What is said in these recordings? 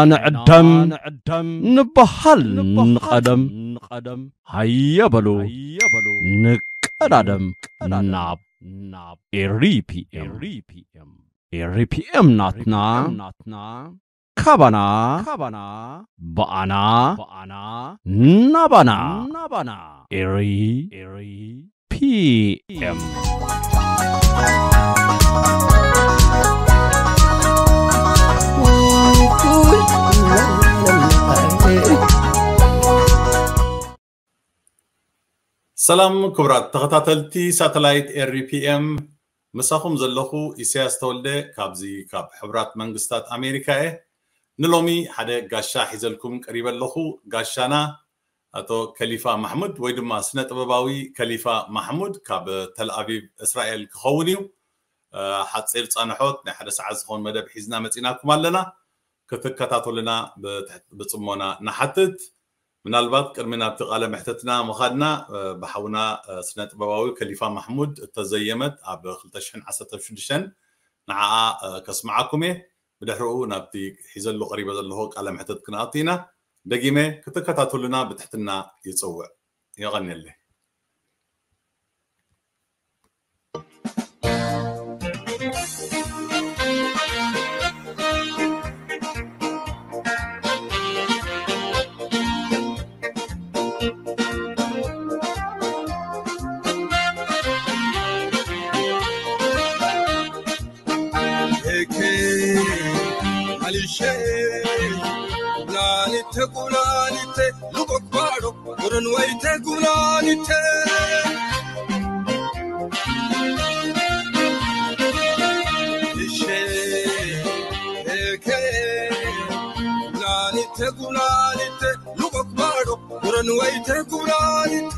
ንዕደም፣ ንበሃል፣ ንቐደም። ሃየ በሉ፣ ንቀዳደም። ናብ ኤሪ ፒ ኤም። ኤሪ ፒ ኤም ናትና፣ ካባና፣ ብኣና፣ ናባና። ኤሪ ፒ ኤም። ሰላም ክቡራት ተኸታተልቲ ሳተላይት ኤሪ ፒ ኤም፣ ምሳኹም ዘለኹ ኢሳያስ ተወልደ ካብዚ ካብ ሕቡራት መንግስታት ኣሜሪካ እየ። ንሎሚ ሓደ ጋሻ ሒዘልኩም ቀሪበ ኣለኹ። ጋሻና ኣቶ ከሊፋ ማሕሙድ ወይ ድማ ስነ ጥበባዊ ከሊፋ ማሕሙድ ካብ ተል ኣቪቭ እስራኤል ክኸውን እዩ። እ፣ ሓፂር ፃንሖት ናይ ሓደ ሰዓት ዝኸውን መደብ ሒዝና መፂናኩም ኣለና። ክትከታተሉና ብትሕ-፣ ብፅሞና ንሓትት። ምናልባት ቅድሚ ናብቲ ቃለ መሕተትና ምኻድና፣ እ፣ ብሓውና፣ እ፣ ስነ ጥበባዊ ከሊፋ ማሕሙድ እተዘየመት ኣብ ክልተ ሽሕን ዓሰርተ ሽዱሽተን ንዓኣ፣ እ፣ ከስምዓኩም እየ። ብድሕሪኡ ናብቲ ሒዘሉ ቀሪበ ዘለኹ ቃለ መሕተት ክንኣቱ ኢና። ደጊመ ክትከታተሉና ብትሕትና ይጽውዕ። የቐንየለይ። ሄኬ፣ ማሊሼ፣ ጉላሊቴ፣ ጉላሊቴ፣ ሉቆክ ባዶ፣ ጉርን ወይቴ፣ ጉላሊቴ። ሊሼ፣ ሄኬ፣ ጉላሊቴ፣ ጉላሊቴ፣ ሉቆክ ባዶ፣ ጉርን ወይቴ፣ ጉላሊቴ።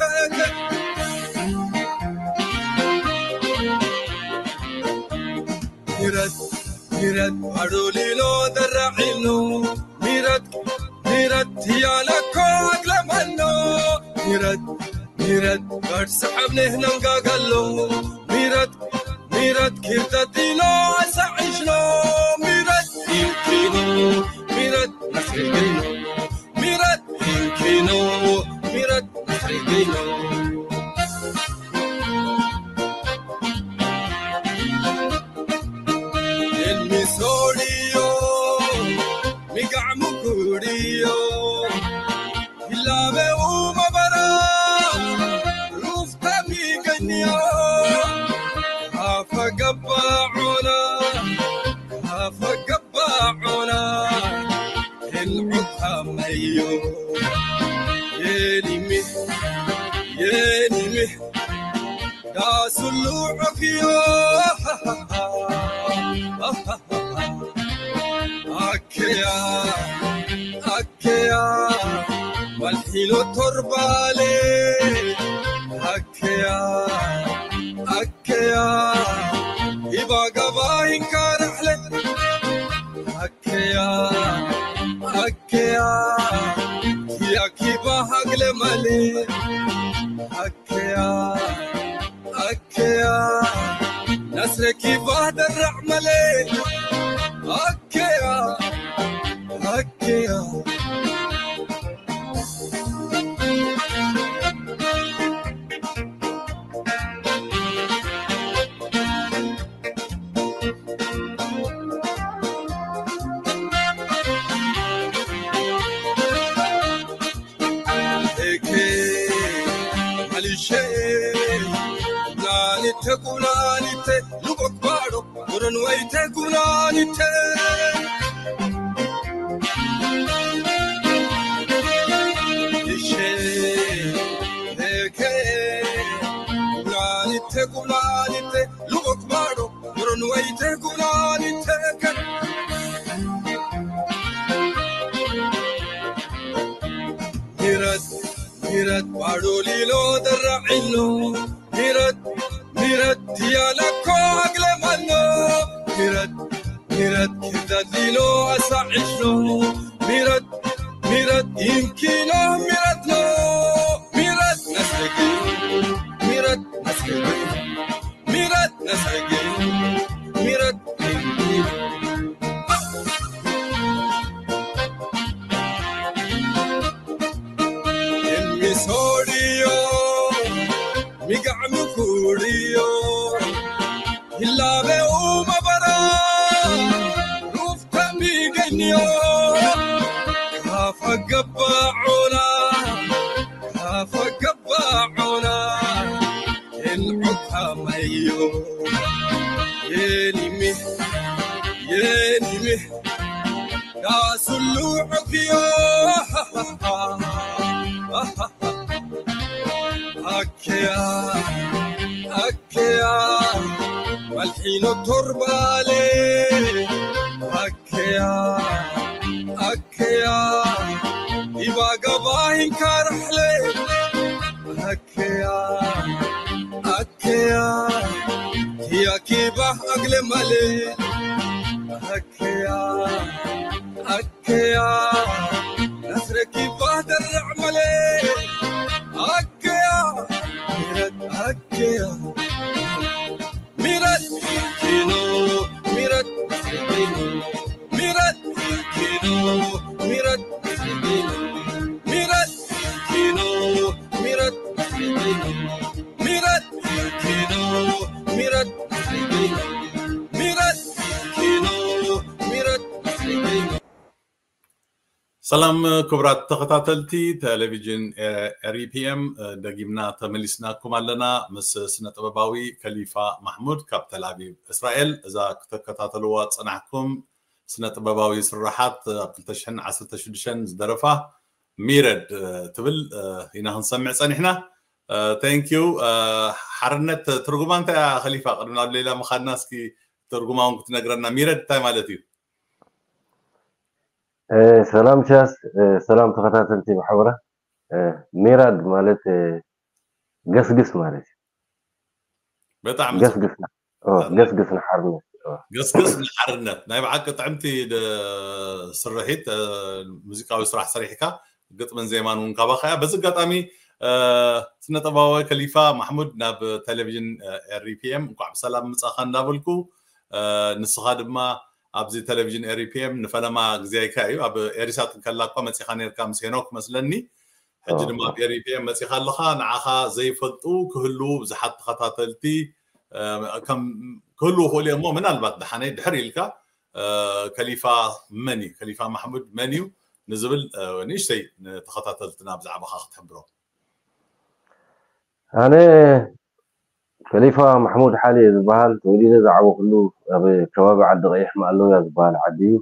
ሚረት፣ ሚረት፣ ባዶ ሊሎ ደራዒኖ። ሚረት፣ ሚረት፣ ያለኮ አግለመኖ። ሚረት፣ ሚረት፣ በርስ ዐብኔህ ነንጋገሎ። ሚረት፣ ሚረት፣ ኪርተት ዲኖ አሳዒሽኖ። ሚረት፣ ኢንኪኖ፣ ሚረት፣ መስሪግኖ። ሚረት፣ ኢንኪኖ፣ ሚረት፣ መስሪግኖ። ኤልሚሶሪዮ፣ ሚጋዕ ሙኩሪዮ፣ ይላበው መበራ፣ ሩፍታ ሚገኒዮ፣ ካፈ ገባዖና፣ ካፈ ገባዖና፣ ኤልዑካመዮ፣ የኒሚ፣ የኒሚ፣ ዳስሉ ዑክዮ። አከያ፣ አከያ፣ መልሒሎ ቶርባሌ። አከያ፣ አከያ፣ ኢባጋባ ይንካራሕለ። አከያ፣ አከያ፣ ኪያኪባ ሃግለ ማሌ። አከያ፣ አከያ፣ ናስረኪባ ደራዕ መሌ። አከያ፣ አከያ። ኤኬ፣ ማሊሼ፣ ጉላሊቴ፣ ጉላሊቴ፣ ሉቆክ ባዶ፣ ጉርን ወይቴ፣ ጉላሊቴ። ሊሼ፣ ኤኬ፣ ጉላሊቴ፣ ጉላሊቴ፣ ሉቆክ ባዶ፣ ጉርን ወይቴ፣ ጉላሊቴ። ሚረት፣ ሚረት፣ ባዶ ሊሎ ደራዒኖ። ሚረት፣ ሚረት፣ ያለኮ አግለማኖ። ሚረት፣ ሚረት፣ ኪርዳት ሊሎ አሳዒሽኖ። ሚረት፣ ሚረት፣ ይምኪኖ ሚረትኖ። ሚረት፣ ነስረጊ፣ ሚረት፣ ነስረጊ። ሚረት፣ ነስረጊ፣ ሚረት፣ ይምኪኖ። ሶድዮ ሚጋዕ ምኩርዮ ይላበው መበራ ሩፍታ ሚገንዮ ካፈገባዖና ካፈገባዖና እንዑካመዮ የኒሚ የኒሚ ዳሱሉ ዕክዮ ኣከያ ኣከያ መልሒኖ ቶርባሌ ኣከያ ኣከያ ኢባጋባሂን ካራሕለ ኣከያ ኣከያ ኪያኪባ ኣግለ ማለ ኣከያ ኣከያ ኣስረኪባ ደርዕ ማለ ኣከያ ሚረት ኣከያ ሚረት ኪኖ ሚረት ኪኖ ሚረት ኪኖ ሚረት ኪኖ ሚረት ኪኖ ሚረት ኪኖ ሚረት ኪኖ ሚረት ኪኖ ሚረት ኪኖ ሚረት ኪኖ ሰላም ክቡራት ተኸታተልቲ ቴሌቪዥን ኤሪፒኤም፣ ደጊምና ተመሊስናኩም ኣለና ምስ ስነ ጥበባዊ ከሊፋ ማሕሙድ ካብ ተልኣቪቭ እስራኤል። እዛ ክትከታተልዋ ዝጸናሕኩም ስነ ጥበባዊ ስራሓት ኣብ ክልተ ሽሕን ዓሰርተ ሽዱሽተን ዝደረፋ ሚረድ ትብል ኢና ክንሰምዕ ጸኒሕና። ቴንኪዩ። ሓርነት ትርጉማ እንታይ እያ ከሊፋ? ቅድሚ ናብ ሌላ ምኻድና እስኪ ትርጉማ እውን ክትነግረና። ሚረድ እንታይ ማለት እዩ? ሰላም ቻስ፣ ሰላም ተኸታተልቲ ማሕበራ። ሚራድ ማለት ገስግስ ማለት እዩ። በጣም ገስግስ ገስግስ ንሓርነት። ገስግስ ንሓርነት ናይ ብሓቂ ጥዕምቲ ስርሒት፣ ሙዚቃዊ ስራሕ ሰሪሕካ ግጥምን ዜማን እውን ካባኻ እያ። በዚ ኣጋጣሚ ስነጥበባዊ ከሊፋ ማሕሙድ ናብ ቴሌቪዥን ኤሪፒኤም እንኳዕ ብሰላም ምጻኻ እንዳበልኩ፣ ንስኻ ድማ ኣብዚ ቴሌቪዥን ኤሪፒኤም ንፈለማ ግዜይካ እዩ። ኣብ ኤሪሳት እንከላ እኳ መጺኻ ነርካ ምስ ሄኖክ መስለኒ። ሕጂ ድማ ኣብ ኤሪፒኤም መጺኻ ኣለኻ። ንዓኻ ዘይፈልጡ ክህልዉ ብዙሓት ተኸታተልቲ ክህልዉ ክእሉ እዮም እሞ ምናልባት ደሓነይ ድሕር ኢልካ ከሊፋ መን እዩ፣ ከሊፋ ማሕሙድ መን እዩ ንዝብል ንእሽተይ ንተኸታተልትና ብዛዕባኻ ክትሕብሮም። ኣነ ከሊፋ ማሕሙድ ሓሊ እየ ዝበሃል። ተወሊደ ዝዓበኹሉ ኣብ ከባቢ ዓዲ ቀይሕ ማእለውያ ዝበሃል ዓዲ እዩ።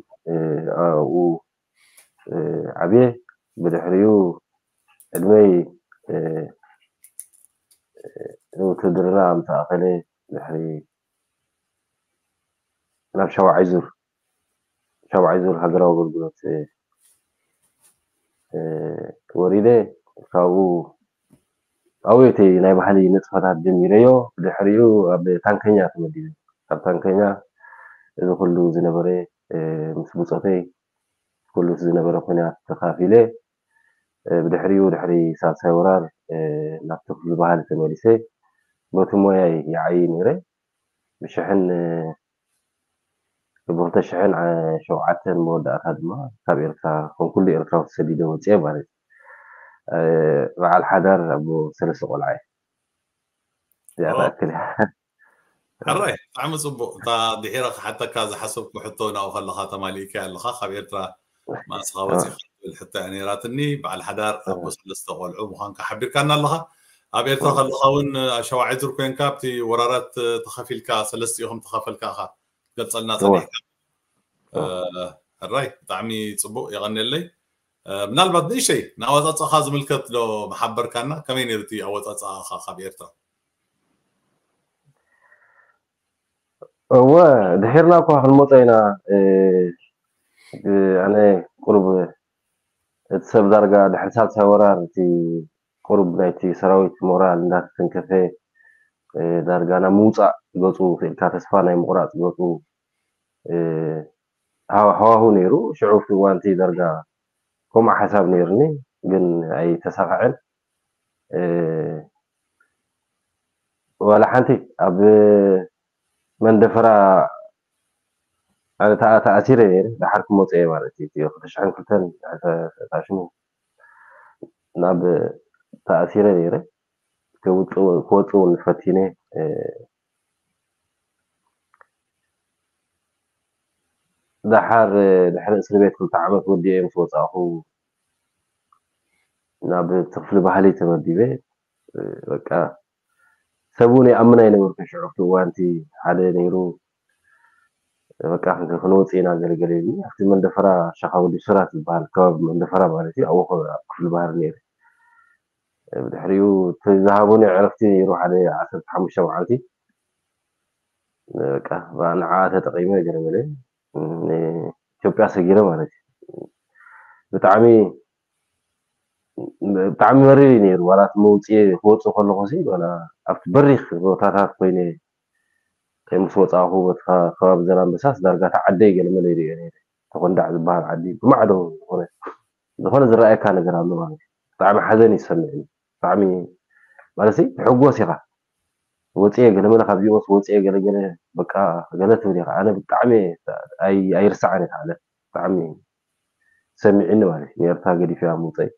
ኣብኡ ዓብየ። ብድሕሪኡ ዕድመይ ንውትድርና ምስ ኣኸለ ድሕሪ ናብ ሻውዓይ ዙር ሻውዓይ ዙር ሃገራዊ ኣገልግሎት ወሪደ። ካብኡ ኣብኡ እቲ ናይ ባህሊ ንጥፈታት ጀሚረዮ። ብድሕሪኡ ኣብ ታንከኛ ተመዲበ። ኣብ ታንከኛ እዚ ኩሉ ዝነበረ ምስ ብፆተይ ኩሉ ዝነበረ ኩናት ተኻፊለ። ብድሕሪኡ ድሕሪ ሳልሳይ ወራር ናብቲ ክፍሊ ባህሊ ተመሊሰ። በቲ ሞያይ ይዓይ ነይረ። ብሽሕን ብክልተ ሽሕን ሸውዓተን መወዳእታ ድማ ካብ ኤርትራ ከም ኩሉ ኤርትራዊ ተሰዲደ ወፅየ ማለት እዩ። በዓል ሓዳር ኣቦ ሰለስተ ቆልዓ እየ። እዚኣ ትኣክል እያ። ሕራይ ብጣዕሚ ፅቡቅ። እታ ድሒረ ክሓተካ ዝሓሰብኩ ሕቶ ናብኡ ከለካ ተማሊእካያ ኣለካ። ካብ ኤርትራ መኣስኻ ወፂኻ ትብል ሕቶ እያ ነይራትኒ። በዓል ሓዳር ኣቦ ሰለስተ ቆልዑ ምዃንካ ሓቢርካና ኣለካ። ኣብ ኤርትራ ከለካ እውን ሸውዓይ ዙር ኮንካ ኣብቲ ወራራት ተኸፊልካ ሰለስቲኡ ከም ተኸፈልካ ኢኻ ትገልፀልና ፀኒሕካ። ሕራይ ብጣዕሚ ፅቡቅ የቐንየለይ። ምናልባት ንእሽተይ ንኣወፃፅኣኻ ዝምልከት ዶ መሓበርካና? ከመይ ነይሩ እቲ ኣወፃፅኣኻ ካብ ኤርትራ? እወ ድሒርና እኳ ክንመፆ ኢና። ኣነ ቁሩብ እቲ ሰብ ዳርጋ ድሕሪ ሳልሳይ ወራር እቲ ቁሩብ ናይቲ ሰራዊት ሞራል እንዳተተንከፈ ዳርጋ ናብ ምውፃእ ገፁ ክኢልካ ተስፋ ናይ ምቁራፅ ገፁ ሃዋህው ነይሩ። ሽዑ እቲ እዋንቲ ዳርጋ ከምኡ ሓሳብ ነይርኒ ግን ኣይተሳኽዐን። ዋላ ሓንቲ ኣብ መንደፈራ ኣነ ተኣ- ተኣሲረ ነይረ። ደሓር ክመፀ እየ ማለት እዩ። እቲ ክልተ ሽሕን ክልተን ድሕሪ ተታሽሙ ናብ ተኣሲረ ነይረ። ክወፅእ እውን ፈቲነ። ደሓር ድሕሪ እስር ቤት ክልተ ዓመት ወዲኤ ምስ ወፃእኹ ናብ ክፍሊ ባህሊ ተመዲበ። በቃ ሰብ እውን ይኣምን ኣይነበርኩን ሽዑ። ኣብቲ እዋንቲ ሓደ ነይሩ በቃ ክንወፅእ ኢና ገለገለ ኢሉ ኣብቲ መንደፈራ ሸኻ ወዲ ሱራት ዝበሃል ከባቢ መንደፈራ ማለት እዩ ኣብኡ ክፍሊ ባህሪ ነይሩ። ብድሕሪኡ ዝሃቡኒ ዕረፍቲ ነይሩ ሓደ ዓሰርተ ሓሙሽተ መዓልቲ። በቃ ንዓ ተጠቂመ ገለገለ ኢትዮጵያ ሰጊረ ማለት እዩ። ብጣዕሚ ብጣዕሚ መሪር እዩ ነይሩ። ዋላ እቲ መውፅኤ ክወፅእ ከለኹ ሲ ዋላ ኣብቲ በሪኽ ቦታታት ኮይነ ምስ ወፃእኹ በቲ ከባቢ ዘላንበሳስ ዳርጋ እቲ ዓደይ ገለመለ ይሪኦ ነይረ። ተኾንዳዕ ዝበሃል ዓዲ ብማዕዶ ዝኾነ ዝኾነ ዝረኣየካ ነገር ኣሎ ማለት እዩ። ብጣዕሚ ሓዘን እዩ ዝሰምዕኒ። ብጣዕሚ ማለት ሲ ትሕጎስ ኢኻ። ወፅኤ ገለመለ ካብዚኦስ ወፅኤ ገለገለ በቃ ገለ ትብል ኢኻ። ኣነ ብጣዕሚ ኣይርስዓን እየ ዓለ ብጣዕሚ ሰሚዕኒ ማለት እዩ። ንኤርትራ ገዲፈ እያ ምውፀይ።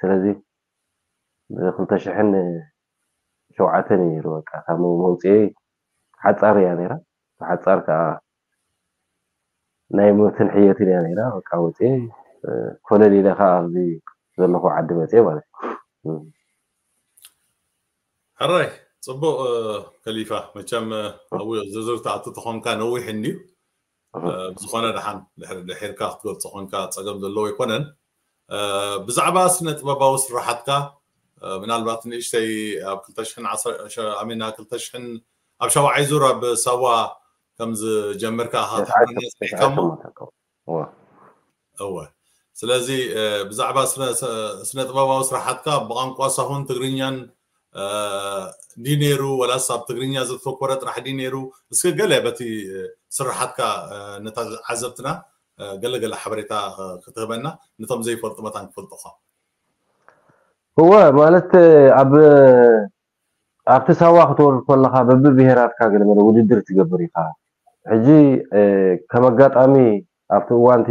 ስለዚ ብክልተ ሽሕን ሸውዓተን እዩ ነይሩ በቃ እታ መውፅኤ ሓፃር እያ ነይራ። ሓፃር ከዓ ናይ ሞትን ሕየትን እያ ነይራ። በቃ ወፅኤ ኮለል ኢለ ከዓ ኣብዚ ዘለኹ ዓዲ መፅኤ ማለት እዩ። ሕራይ ፅቡቅ። ከሊፋ መቸም ኣብ ዝርዝር ተኣቱ ተኾንካ ነዊሕ እንድዩ። ብዝኾነ ደሓን ድሕርካ ክትገልፆ ኮንካ ፀገም ዘለዎ ኣይኮነን። ብዛዕባ ስነ ጥበባዊ ስራሓትካ ምናልባት ንእሽተይ ኣብ ክልተ ሽሕን ኣሜና ክልተ ሽሕን ኣብ ሻውዓይ ዙር ኣብ ሳዋ ከም ዝጀመርካ ክትሕብረና ፀኒሕካ እሞ እወ ስለዚ ብዛዕባ ስነ ጥበባዊ ስራሓትካ ብቋንቋ ሳሆን ትግርኛን ድዩ ነይሩ ወላስ ኣብ ትግርኛ ዘተኮረ ጥራሕ ድዩ ነይሩ? እስኪ ገለ በቲ ስራሓትካ ነታ ዓዘብትና ገለ ገለ ሓበሬታ ክትህበና ነቶም ዘይፈልጡ መታን ክፈልጡኻ። እወ ማለት ኣብ ኣብቲ ሳዋ ክትወርድ ከለኻ በብብሄራትካ ገለመለ ውድድር ትገብር ኢኻ። ሕጂ ከም ኣጋጣሚ ኣብቲ እዋንቲ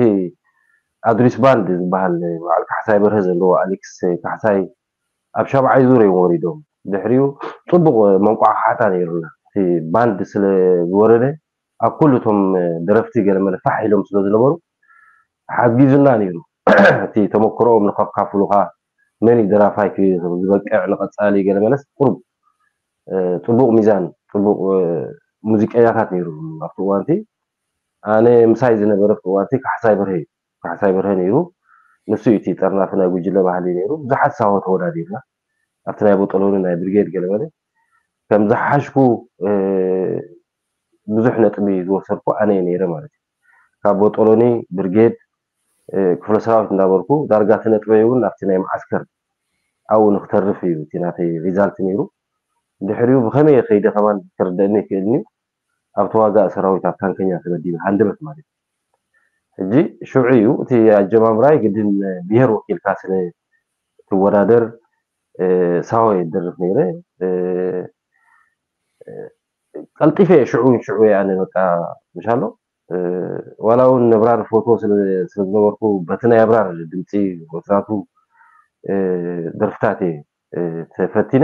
ኣድሪስ ባንድ ዝበሃል በዓል ካሕሳይ በርሀ ዘለዎ ኣሌክስ ካሕሳይ ኣብ ሻብዓይ ዙር እዮም ወሪዶም። ድሕሪኡ ፅቡቕ መንቋሕቋሕታ ነይሩና። እቲ ባንድ ስለ ዝወረደ ኣብ ኩሉ እቶም ደረፍቲ ገለመለ ፋሕ ኢሎም ስለ ዝነበሩ ሓጊዙና ነይሩ። እቲ ተመክሮኦም ንኸካፍሉኻ መን እዩ ደራፋይ ዝበቅዕ ንቐፃሊ ገለመለስ ቁሩብ ፅቡቕ ሚዛን ፅቡቕ ሙዚቀኛታት ነይሩ ኣብቲ እዋንቲ ኣነ ምሳይ ዝነበረ ኣብቲ እዋንቲ ካሕሳይ በርሀ እዩ ካሕሳይ በርሀ ነይሩ ንሱ እዩ እቲ ጠርናፊ ናይ ጉጅለ ባህሊ ነይሩ ብዙሓት ሳሆ ተወዳዲርና ኣብቲ ናይ ቦጠሎኒ ናይ ብርጌድ ገለመለ ከም ዝሓሽኩ ብዙሕ ነጥቢ ዝወሰድኩ ኣነ እየ ነይረ ማለት እዩ ካብ ቦጠሎኒ ብርጌድ ክፍለ ሰራዊት እንዳበልኩ ዳርጋ እቲ ነጥበይ እውን ናብቲ ናይ መዓስከር ኣብኡ ንክተርፍ እዩ እቲ ናተይ ሪዛልት ነይሩ ድሕሪኡ ብከመይ ከይደ ከማን ክርደእኒ ይክእልኒ ኣብ ተዋጋእ ሰራዊት ኣብ ታንከኛ ተመዲበ ሃንደበት ማለት እዩ ሕጂ ሽዑ እዩ እቲ ኣጀማምራይ ግድን ብሄር ወኪልካ ስለ ትወዳደር ሳሆ የደርፍ ነይረ ቀልጢፈ ሽዑ ሽዑ ኣነ በቃ ምሻሎ ዋላ እውን ነብራር ፎቶ ስለዝነበርኩ በቲ ናይ ኣብራር ድምፂ ወትራቱ ደርፍታት እየ ተፈቲነ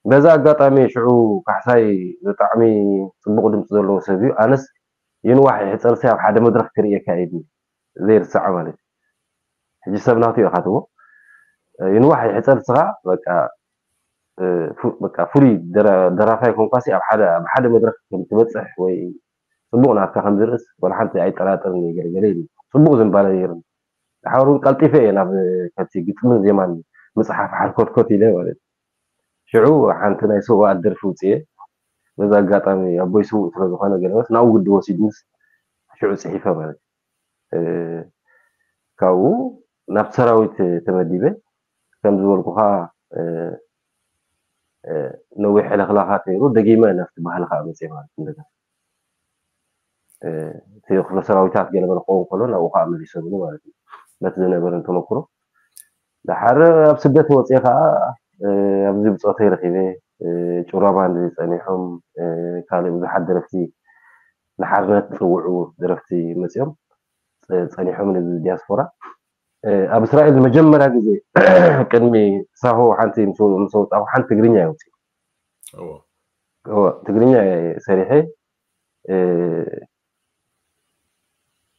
በዛ ኣጋጣሚ ሽዑ ካሕሳይ ብጣዕሚ ፅቡቅ ድምፂ ዘለዎ ሰብ እዩ ኣነስ ይንዋሕ ይሕፀርሲ ኣብ ሓደ መድረክ ክርእየካ እዩ ዘይርሳዕ ማለት እዩ ሕጂ ሰብ ናቱ ኢኻ ትቦ ይንዋሕ ይሕፀር ስኻ በቃ በቃ ፍሉይ ደራፋይ ኮንኳሲ ኣብ ሓደ ኣብ ሓደ መድረክ ከም ትበፅሕ ወይ ፅቡቅ ናትካ ከም ዝርእስ ወላ ሓንቲ ኣይጠራጠርን ገለገለ ኢሉ ፅቡቅ ዝንባለ ነይሩ ሓሩን ቀልጢፈ እየ ናብ ከቲ ግጥምን ዜማን ምፅሓፍ ሓርኮትኮት ኢለ ማለት ሽዑ ሓንቲ ናይ ሰውኣት ደርፊ ውፅየ በዛ ኣጋጣሚ ኣቦይ ስውእ ስለዝኾነ ገለመስ ናብኡ ግዲ ወሲዱስ ሽዑ ፅሒፈ ማለት ካብኡ ናብ ሰራዊት ተመዲበ ከም ዝበልኩኻ ነዊሕ ሕልኽላኻት ነይሩ ደጊመ ናብቲ ባህሊ ከዓ መፅየ ማለት እንደገና እቲ ክፍለ ሰራዊታት ገለመለ ክኸውን ከሎ ናብኡ ከዓ መሊሶምኒ ማለት እዩ በቲ ዝነበረን ተመክሮ ደሓር ኣብ ስደት ወፅየ ከዓ ኣብዚ ብፆተይ ረኪበ ጭራ ባንድ ጸኒሖም ካልእ ብዙሓት ደረፍቲ ንሓርነት ዝፅውዑ ደረፍቲ መፅኦም ፀኒሖም ነዚ ዲያስፖራ ኣብ እስራኤል መጀመርያ ግዜ ቅድሚ ሳሆ ሓንቲ ምስ ወፃኹ ሓንቲ ትግርኛ እየ ወፂኡ። ትግርኛ እየ ሰሪሐ።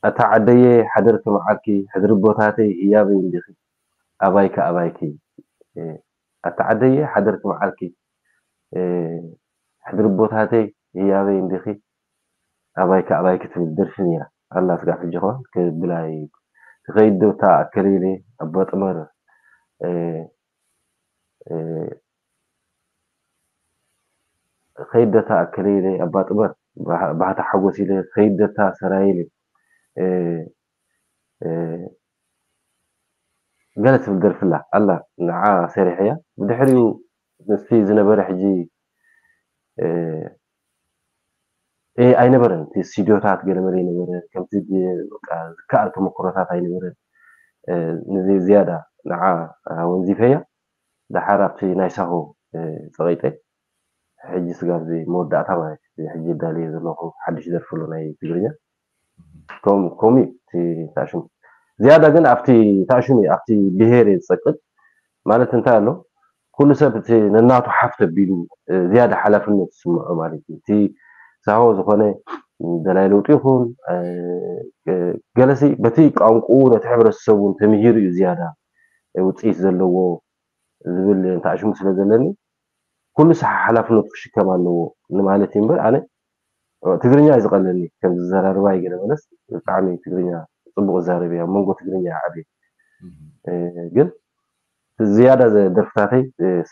ኣታ ዓደየ ሓደርኪ መዓልኪ፣ ሕድሪ ቦታተይ ህያበይ እንዲኺ፣ ኣባይኪ ኣባይኪ። ኣታ ዓደየ ሓደርኪ መዓልኪ፣ ሕድሪ ቦታተይ ህያበይ እንዲኺ፣ ኣባይኪ ኣባይኪ ትብል ደርፊ ነይራ ኣላ። ስጋብ ሕጂ ኸ ክብላ ትኸይድ ዶ እታ ኣከለይለ ኣባ ጥመር፣ ኸይድ ዶ እታ ኣከለይለ ኣባ ጥመር፣ ባህታ ሓጎስ ኢለ፣ ኸይድ ዶ እታ ሰራይለ፣ ገለ ትብል ደርፊ ኣላ ኣላ። ንዓ ሰሪሐያ። ብድሕሪኡ ምስቲ ዝነበረ ሕጂ ኣይነበረን፣ እቲ ስቱዲዮታት ገለመለ ኣይነበረ፣ ከምቲ ዝከኣል ተመክሮታት ኣይነበረን። ንዚ ዝያዳ ንዓ ወንዚፈያ። ደሓር ኣብቲ ናይ ሳሆ ፀቂጠ። ሕጂ ስጋብ እዚ መወዳእታ ማለት እዩ። ሕጂ ዳልየ ዘለኹ ሓድሽ ደርፊ ኣሎ ናይ ትግርኛ። ከም ከምኡ እዩ እቲ ታሽሙ። ዝያዳ ግን ኣብቲ ታሽሙ እዩ፣ ኣብቲ ብሄር እየ ዝጸቅጥ። ማለት እንታይ ኣሎ፣ ኩሉ ሰብ እቲ ነናቱ ሓፍ ተቢሉ ዝያዳ ሓላፍነት ዝስምዖ ማለት እዩ። እቲ ሳሆ ዝኾነ ደላይ ለውጢ ይኹን ገለሲ በቲ ቋንቁኡ ነቲ ሕብረተሰቡ ተምሂሩ እዩ ዝያዳ ውፅኢት ዘለዎ ዝብል ታሽሙ ስለ ዘለኒ ኩሉ ሰብ ሓላፍነቱ ክሽከም ኣለዎ ንማለት እዩ እምበር ኣነ ትግርኛ እዩ ዝቐለኒ። ከም ዝዘራርባ ይገለ መለስ ብጣዕሚ ትግርኛ ፅቡቅ እዛረብ እያ መንጎ ትግርኛ ዓብየ። ግን ዝያዳ ደርፍታተይ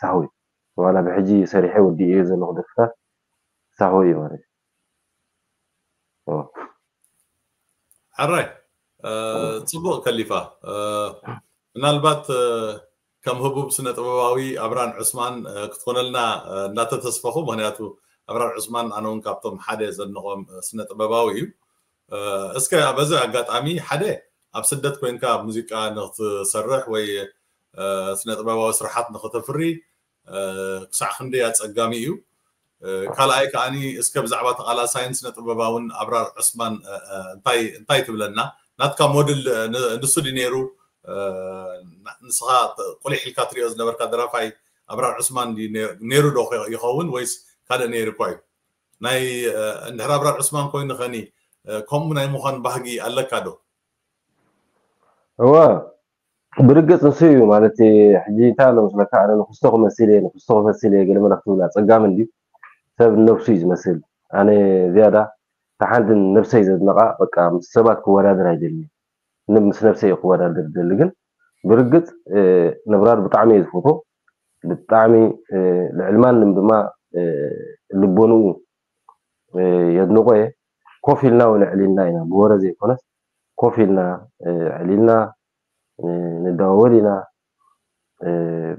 ሳሆ እዩ። ዋላ ብሕጂ ሰሪሐ ወዲእዮ ዘለኹ ደርፍታት ሳሆ እዩ ማለት እዩ። ሕራይ። ፅቡቅ ከሊፋ። ምናልባት ከም ህቡብ ስነ ጥበባዊ ኣብራን ዑስማን ክትኮነልና እንዳተተስፈኹ፣ ምክንያቱ ኣብራን ዑስማን ኣነ እውን ካብቶም ሓደ ዘድንቆም ስነ ጥበባዊ እዩ። እስከ በዚ ኣጋጣሚ ሓደ ኣብ ስደት ኮይንካ ሙዚቃ ንክትሰርሕ ወይ ስነ ጥበባዊ ስራሓት ንክተፍሪ ክሳዕ ክንደይ ኣፀጋሚ እዩ። ካልኣይ ከዓኒ እስከ ብዛዕባ ተቓላሳይን ስነ ጥበባውን ኣብራር ዑስማን እንታይ እንታይ ትብለና? ናትካ ሞድል ንሱ ድዩ ነይሩ? ንስኻ ቁሊሕ ኢልካ ትሪኦ ዝነበርካ ደራፋይ ኣብራር ዑስማን ነይሩ ዶ ይኸውን ወይስ ካልእ ነይሩ እኳ እዩ? ናይ እንድሕር ኣብራር ዑስማን ኮይኑ ኸኒ ከምኡ ናይ ምዃን ባህጊ ኣለካ ዶ? እወ ብርግጽ ንሱ እዩ ማለት ሕጂ እንታይ ኣሎ መስለካ ኣነ ንክስቶ ክመስል እየ ንክስቶ ክመስል እየ ገለ መለ ክትብል ኣጸጋሚ እንድዩ ሰብ ንነብሱ እዩ ዝመስል ኣነ ዝያዳ እታ ሓንቲ ነብሰይ ዘድንቓ በቃ ምስ ሰባት ክወዳደር ኣይደልን ምስ ነብሰይ እዩ ክወዳደር ዝደሊ ግን ብርግጽ ነብራር ብጣዕሚ እየ ዝፈትዎ ብጣዕሚ ልዕሊ ማንም ድማ ልቦንኡ የድንቆ እየ ኮፍ ኢልና እውን ኣዕሊልና ኢና ብወረ ዘይኮነስ ኮፍ ኢልና ኣዕሊልና ንደዋወል ኢና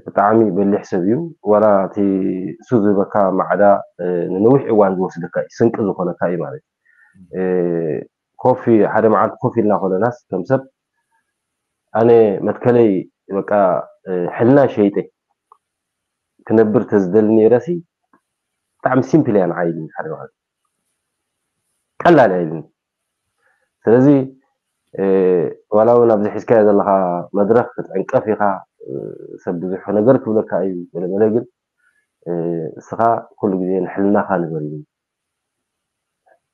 ብጣዕሚ በሊሕ ሰብ እዩ ዋላ እቲ እሱ ዝህበካ ማዕዳ ንነዊሕ እዋን ዝወስደካ እዩ ስንቂ ዝኮነካ እዩ ማለት ኮፍ ሓደ መዓልቲ ኮፍ ኢልና ኮለናስ ከም ሰብ ኣነ መትከለይ በቃ ሕልና ሸይጠ ክነብር ተዝደሊ ነይረሲ ብጣዕሚ ሲምፕል እያ ንዓይ ኢሉኒ ሓደ መዓልቲ ቀላል እያ ኢሉኒ ስለዚ ዋላ እውን ኣብዚ ሒዝካዮ ዘለካ መድረክ ክትዕንቀፍ ኢካ ሰብ ብዙሕ ነገር ክብለካ እዩ ገለመለ ግን እስኻ ኩሉ ግዜ ንሕልናኻ ንበር ኢሉኒ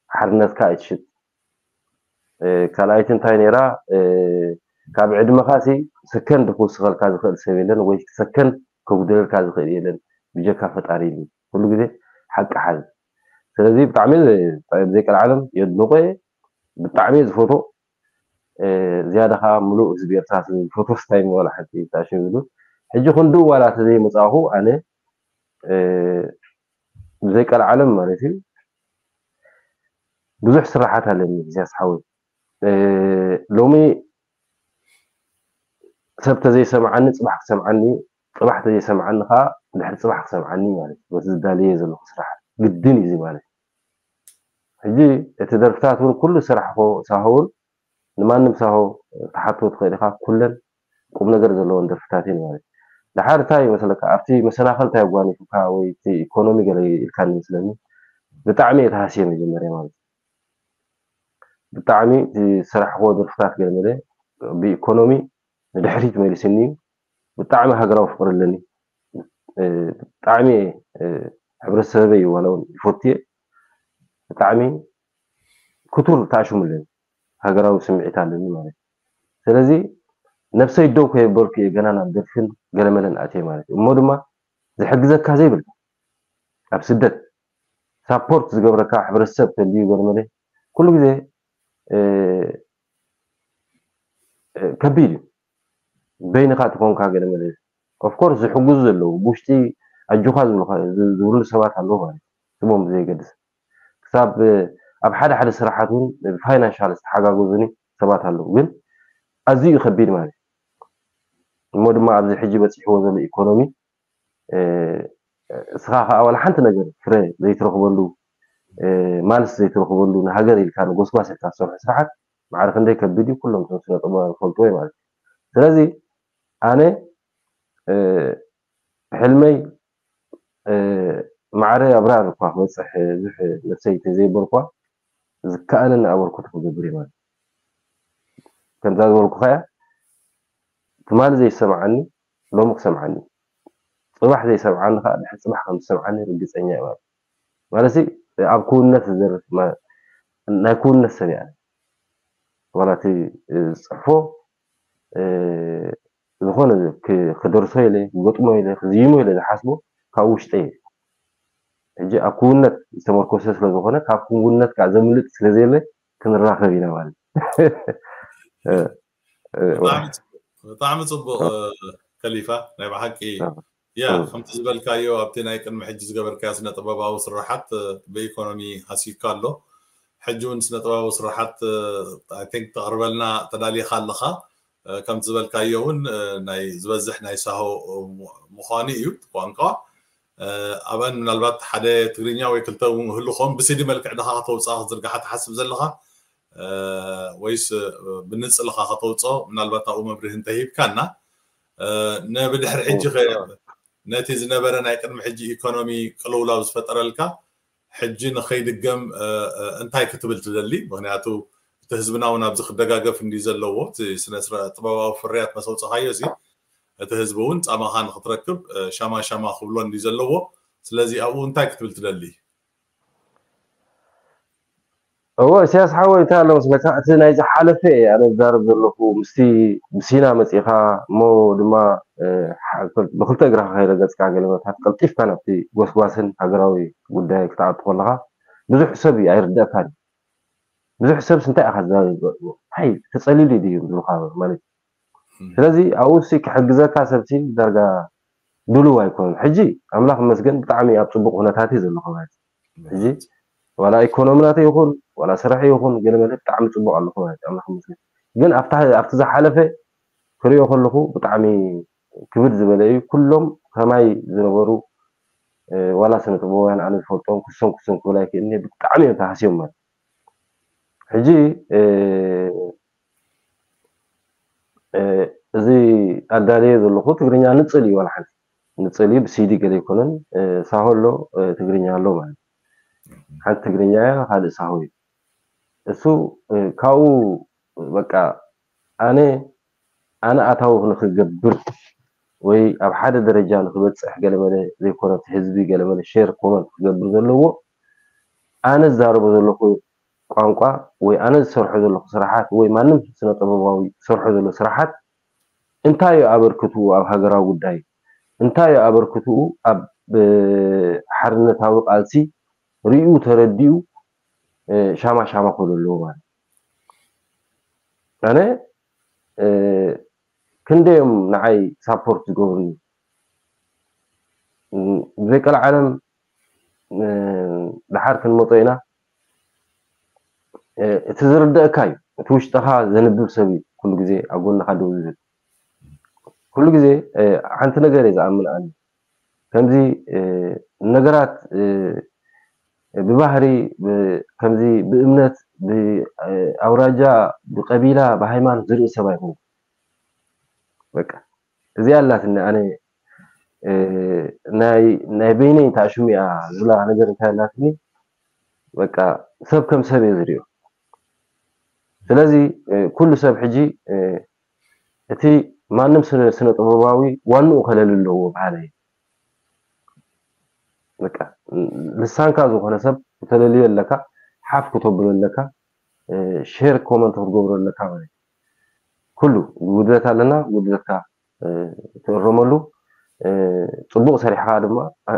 ሓርነትካ ኣይትሽጥ ካልኣይቲ እንታይ ነይራ ካብ ዕድመኻ ሲ ሰከንድ ክውስኸልካ ዝኽእል ሰብ የለን ወይ ሰከንድ ከጉድለልካ ዝኽእል የለን ብጀካ ፈጣሪ ኢሉ ኩሉ ግዜ ሓቂ ሓዝ ስለዚ ብጣዕሚ ዘይቀልዓለም የድንቆ ብጣዕሚ ዝፈቶ ዝያዳ ከዓ ሙሉእ ህዝቢ ኤርትራ ዝፈቶ ስታይ ወላ ሓንቲ ታሽም ዝብል ሕጂ ክንድኡ ዋላ ተዘይመፃእኹ ኣነ ብዘይቀልዓለም ማለት እዩ ብዙሕ ስራሓት ኣለኒ ኢሳያስ ሓወይ ሎሚ ሰብ ተዘይሰምዓኒ ፅባሕ ክሰምዓኒ ፅባሕ ተዘይሰምዓኒ ከዓ ድሕሪ ፅባሕ ክሰምዓኒ ማለት እዩ በቲ ዝዳለየ ዘለኩ ስራሓት ግድን እዩ ማለት እዩ ሕጂ እቲ ደርፍታት እውን ኩሉ ስራሕ ሳሆ እውን ንማንም ሳሆ ተሓቶ ትኽእል ኢኻ ኩለን ቁም ነገር ዘለዎን ደርፍታት እየን ማለት እዩ። ደሓር እንታይ ይመስለካ ኣብቲ መሰናኸል እንታይ ኣጓኒፉካ ወይ እቲ ኢኮኖሚ ገለ ኢልካኒ ይመስለኒ ብጣዕሚ እየ ተሃስየ መጀመርያ ማለት እዩ። ብጣዕሚ እቲ ዝሰራሕክዎ ደርፍታት ገለ መለ ብኢኮኖሚ ንድሕሪት መሊስኒ እዩ። ብጣዕሚ ሃገራዊ ፍቕሪ ኣለኒ። ብጣዕሚ ሕብረተሰበይ ዋላ እውን ይፈትየ። ብጣዕሚ ክቱር ተኣሽሙ ኣለኒ። ሃገራዊ ስምዒት ኣለኒ ማለት እዩ። ስለዚ ነብሰይ ደው ከየበልኩ እየ ገና ናብ ደርፍን ገለመለን ኣትየ ማለት እዩ። እሞ ድማ ዝሕግዘካ ዘይብልካ ኣብ ስደት ሳፖርት ዝገብረካ ሕብረተሰብ ተልዩ ገለመለ ኩሉ ግዜ ከቢድ እዩ። በይንኻ ትኾንካ ገለመለ ኦፍኮርስ ዝሕግዙ ዘለዉ ብውሽጢ ኣጆኻ ዝብሉ ሰባት ኣለዉ ማለት እዩ። ስሞም ብዘየገድስ ክሳብ ኣብ ሓደ ሓደ ስራሓት እውን ብፋይናንሻል ዝተሓጋገዙኒ ሰባት ኣለዉ። ግን ኣዝዩ ከቢድ ማለት እዩ። እሞ ድማ ኣብዚ ሕጂ በፂሕዎ ዘሎ ኢኮኖሚ እስኻ ከዓ ዋላ ሓንቲ ነገር ፍረ ዘይትረኽበሉ ማልስ ዘይትረኽበሉ ንሃገር ኢልካ ንጎስጓስ ኢልካ ዝሰርሑ ስራሓት ማዕረ ክንደይ ከቢድ እዩ። ኩሎም እቶም ስነ ጥበባውያን ይፈልጥዎ እዩ ማለት እዩ። ስለዚ ኣነ ሕልመይ ማዕረ ኣብራር እኳ ክበፅሕ ብዙሕ ነብሰይ ተዘይበልኳ ዝከኣለኒ ኣበርክቶ ክገብር እየ ማለት ከምዛ ዝበልኩኻ እያ። ትማሊ ዘይሰምዓኒ ሎሚ ክሰምዓኒ፣ ፅባሕ ዘይሰምዓኒ ከዓ ድሕሪ ፅባሕ ከም ዝሰምዓኒ ርግፀኛ እየ ማለት ማለት ኣብ ክውነት ዝደርፍ ናይ ክውነት ሰብ እያ። ዋላ እቲ ዝፅሕፎ ዝኾነ ክደርሶ ኢለ ክገጥሞ ኢለ ክዝይሞ ኢለ ዝሓስቦ ካብ ውሽጠ እየ። ሕጂ ኣብ ክውነት ዝተመርኮሰ ስለዝኾነ ካብ ክውነት ከዓ ዘምልጥ ስለዘየለ ክንራኸብ ኢና ማለት ብጣዕሚ ፅቡቅ ከሊፋ ናይ ብሓቂ ያ ከምቲ ዝበልካዮ ኣብቲ ናይ ቅድሚ ሕጂ ዝገበርካዮ ስነ ጥበባዊ ስራሓት ብኢኮኖሚ ሃሲካ ኣሎ። ሕጂ እውን ስነ ጥበባዊ ስራሓት ቲንክ ተቕርበልና ተዳሊኻ ኣለኻ። ከምቲ ዝበልካዮ እውን ናይ ዝበዝሕ ናይ ሳሆ ምዃኑ እዩ ቋንቋ። ኣብአን ምናልባት ሓደ ትግርኛ ወይ ክልተ እውን ክህሉ ኸውን ብሲዲ መልክዕ ድኻ ከተውፅኣ ክትዝርግሓ ትሓስብ ዘለኻ ወይስ ብንፅልኻ ከተውፅኦ ምናልባት ኣብኡ መብርሂ እንተሂብካና ንብድሕሪ ሕጂ ነቲ ዝነበረ ናይ ቅድሚ ሕጂ ኢኮኖሚ ቅልውላው ዝፈጠረልካ ሕጂ ንኸይድገም እንታይ ክትብል ትደሊ? ምክንያቱ እቲ ህዝብና እውን ኣብዚ ክደጋገፍ እንዲ ዘለዎ እቲ ስነ ጥበባዊ ፍርያት መሰውፅኻዮ እዚ እቲ ህዝቢ እውን ፃማኻ ንክትረክብ ሻማ ሻማ ክብሎ እንዲ ዘለዎ ስለዚ ኣብኡ እንታይ ክትብል ትደሊ? እወ እስያስ ሓወይ እንታይ ኣሎ መስለካ እቲ ናይ ዝሓለፈ እየ ኣነ ዝዛረብ ዘለኹ ምስቲ ብሲና መፂእኻ እሞ ድማ ብክልተ እግርኻ ከይረገፅካ ገለ መታት ቀልጢፍካ ናብቲ ጎስጓስን ሃገራዊ ጉዳይ ክትኣቱ ከለኻ ብዙሕ ሰብ እዩ ኣይርደእካን ብዙሕ ሰብስ እንታይ ኢኻ ዝዛረብ እንታይ ተፀሊሉ ድዩ ዝብሉካ ማለት ስለዚ ኣብኡ ሲ ክሕግዘካ ሰብሲ ዳርጋ ድሉው ኣይኮነን ሕጂ ኣምላኽ መስገን ብጣዕሚ ኣብ ፅቡቅ ኩነታት እዩ ዘለኹ ማለት ሕጂ ዋላ ኢኮኖሚ ናተይ ይኹን ዋላ ስራሕ ይኹን ገለ መለ ብጣዕሚ ፅቡቅ ኣለኹ ማለት ኣምላኽ መስገን ግን ኣብቲ ዝሓለፈ ክሪኦ ከለኹ ብጣዕሚ ክብድ ዝበለ እዩ ኩሎም ከማይ ዝነበሩ ዋላ ስነ ጥበባውያን ኣነ ዝፈልጦም ክሶም ክሶም ክብል ኣይክእልኒ ብጣዕሚ እዮም ተሃስዮም ማለት ሕጂ እዚ ኣዳለየ ዘለኹ ትግርኛ ንፅል እዩ ዋላ ሓንቲ ንፅል እዩ ብሲዲ ገለ ኣይኮነን ሳሆ ኣሎ ትግርኛ ኣሎ ማለት ሓንቲ ትግርኛ እያ ካልእ ሳሆ እዩ እሱ ካብኡ በቃ ኣነ ኣነ ኣታዊ ንክገብር ወይ ኣብ ሓደ ደረጃ ንክበፅሕ ገለመለ ዘይኮነ ህዝቢ ገለመለ ሼር ኮመንት ክገብር ዘለዎ ኣነ ዝዛረቦ ዘለኹ ቋንቋ ወይ ኣነ ዝሰርሖ ዘለኹ ስራሓት ወይ ማንም ስነ ጥበባዊ ዝሰርሖ ዘሎ ስራሓት እንታይ እዩ ኣበርክትኡ ኣብ ሃገራዊ ጉዳይ እንታይ እዩ ኣበርክትኡ ኣብ ሓርነታዊ ቃልሲ ሪኡ ተረዲኡ ሻማ ሻማ ክብሉ ኣለዎ ማለት ኣነ ክንደዮም ንዓይ ሳፖርት ዝገብሩኒ ብዘይ ቀልዓለም ድሓር ክንመፆ ኢና እቲ ዝርደእካ እዩ እቲ ውሽጥኻ ዘንብብ ሰብ እዩ ኩሉ ግዜ ኣብ ጎንኻ ደው ዝብል ኩሉ ግዜ ሓንቲ ነገር እየ ዝኣምን ኣነ ከምዚ ነገራት ብባህሪ ከምዚ ብእምነት ብኣውራጃ ብቀቢላ ብሃይማኖት ዝርኢ ሰብ ኣይኮንኩ በቃ እዚኣ ኣላትኒ ኣነ ናይ በይነይ ተኣሽሙ እያ ዝብላ ነገር እንታይ ኣላትኒ በቃ ሰብ ከም ሰብ እየ ዝሪኦ ስለዚ ኩሉ ሰብ ሕጂ እቲ ማንም ስነ ጥበባዊ ዋንኡ ከለሊ ኣለዎ በሃላይ። በቃ ልሳንካ ዝኾነ ሰብ ክተለልዮ ኣለካ፣ ሓፍ ክተብሎ ኣለካ፣ ሼር ኮመንት ክትገብሮ ኣለካ ማለት እዩ። ኩሉ ጉድለት ኣለና፣ ጉድለትካ ትእረመሉ፣ ጽቡቕ ሰሪሕኻ ድማ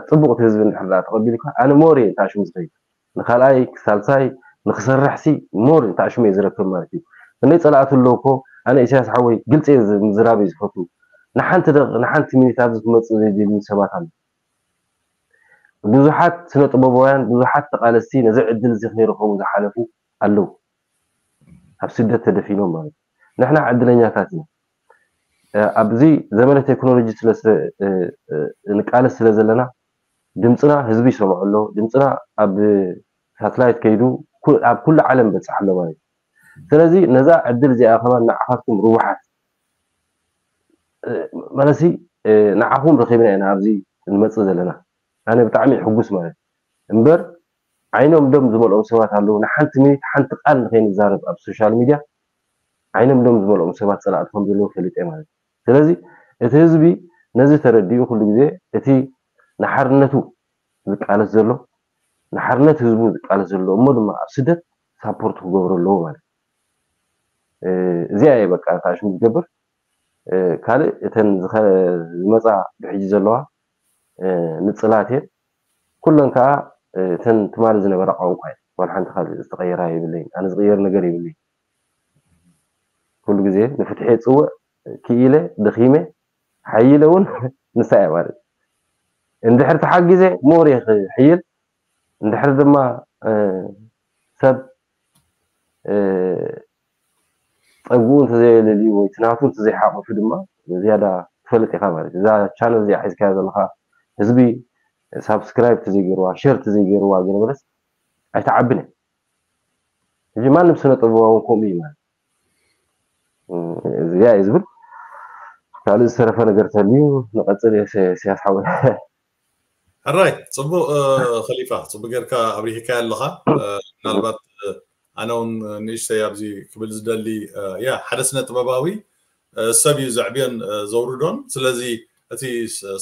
ጽቡቕ እቲ ህዝቢ እንድሕር ደኣ ተቐቢሉካ ኣነ ሞር እየ ተኣሽሙ ዝኸይድ። ንኻልኣይ ሳልሳይ ንክሰርሕ ሲ ሞር ተኣሽሙ እየ ዝረክብ ማለት እዩ። ክንደይ ጸላእቲ ኣለዉ እኮ። ኣነ ኢሳያስ ሓወይ ግልፂ እየ ምዝራብ እየ ዝፈቱ። ንሓንቲ ደቂ ንሓንቲ ሚኒት ኣብዚ ክመፅእ ዘይደልዩ ሰባት ኣለዉ። ብዙሓት ስነ ጥበባውያን ብዙሓት ተቃለስቲ ነዚ ዕድል እዚ ከይረኸቡ ዝሓለፉ ኣለዉ። ኣብ ስደት ተደፊኖም ማለት እዩ። ንሕና ዕድለኛታት ኢና። ኣብዚ ዘመነ ቴክኖሎጂ ስለ ንቃለስ ስለ ዘለና ድምፅና ህዝቢ ይሰምዖ ኣሎ። ድምፅና ኣብ ሳትላይት ከይዱ ኣብ ኩሉ ዓለም በፅሕ ኣሎ ማለት እዩ። ስለዚ ነዛ ዕድል እዚኣ ከማን ንዓኻትኩም ርቡሓት መለሲ ንዓኹም ረኺብና ኢና ኣብዚ ንመፅእ ዘለና። ኣነ ብጣዕሚ ሕጉስ ማለት እምበር ዓይኖም ደም ዝመልኦም ሰባት ኣለዉ። ንሓንቲ ሚኒት ሓንቲ ቃል ንኸይንዛረብ ኣብ ሶሻል ሚድያ ዓይኖም ደም ዝመልኦም ሰባት ፀላእቲ ከም ዘለዉ ፈሊጠ ማለት እዩ። ስለዚ እቲ ህዝቢ ነዚ ተረዲኡ ኩሉ ግዜ እቲ ንሓርነቱ ዝቃለስ ዘሎ ንሓርነት ህዝቡ ዝቃለስ ዘሎ እሞ ድማ ኣብ ስደት ሳፖርት ክገብሮ ኣለዎ ማለት እዩ። እዚኣ እየ በቃ ተኣሽሙ ዝገብር። ካልእ እተን ዝመፃ ብሕጂ ዘለዋ ንፅላት እየን። ኩለን ከዓ እተን ትማሊ ዝነበራ ቋንቋ እየን። ዋላ ሓንቲ ካልእ ዝተቐየራ የብለይን። ኣነ ዝቕየር ነገር የብለይን። ኩሉ ግዜ ንፍትሒ እየ ዝፅውዕ። ክኢለ ደኺመ ሓይለ እውን ንሳ እያ ማለት እዩ። እንድሕር ተሓጊዘ ሞር እየ ክሕይል። እንድሕር ድማ ሰብ ፀግኡ እንተዘየለልዩ ወይ ትናቱ እንተዘይሓቆፉ ድማ ዝያዳ ትፈልጥ ኢኻ ማለት እዩ። እዛ ቻነል እዚኣ ሒዝካያ ዘለኻ ህዝቢ ሳብስክራይብ ተዘይገይርዋ ሸር ተዘይገይርዋ ገለ በለስ ኣይትዓብን እየ። ሕጂ ማንም ስነ ጥበባዊ ከምኡ እዩ ማለት እዚኣ እዩ ዝብል። ካልእ ዝተረፈ ነገር ተልዩ ንቐፅል እየ። ስያስ ሓወይ ሕራይ ፅቡቅ። ከሊፋ ፅቡቅ ጌርካ ኣብሪህካ ኣለኻ። ምናልባት ኣነ እውን ንእሽተይ ኣብዚ ክብል ዝደሊ ያ ሓደ ስነ ጥበባዊ ሰብ እዩ ዘዕብዮን ዘውርዶን። ስለዚ እቲ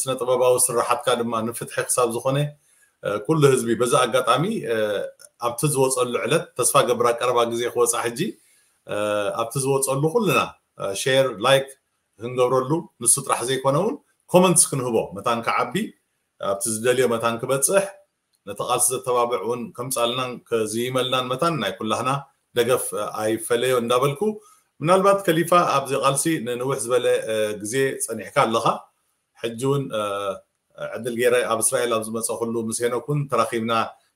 ስነ ጥበባዊ ስራሓትካ ድማ ንፍትሒ ክሳብ ዝኾነ ኩሉ ህዝቢ በዚ ኣጋጣሚ ኣብቲ ዝወፀሉ ዕለት ተስፋ ገብር ቀረባ ግዜ ክወፃ ሕጂ ኣብቲ ዝወፀሉ ኩልና ሼር ላይክ ክንገብረሉ ንሱ ጥራሕ ዘይኮነ እውን ኮመንትስ ክንህቦ መታን ክዓቢ ኣብቲ ዝደልዮ መታን ክበፅሕ ነቲ ቃልሲ ዘተባብዕ እውን ከምፃልናን ከዝይመልናን መታን ናይ ኩላህና ደገፍ ኣይፈለዮ እንዳበልኩ ምናልባት ከሊፋ ኣብዚ ቃልሲ ንንውሕ ዝበለ ግዜ ፀኒሕካ ኣለኻ። ሕጂ እውን ዕድል ገይረ ኣብ እስራኤል ኣብ ዝመፀ ኩሉ ምስ ሄኖክ እውን ተራኺብና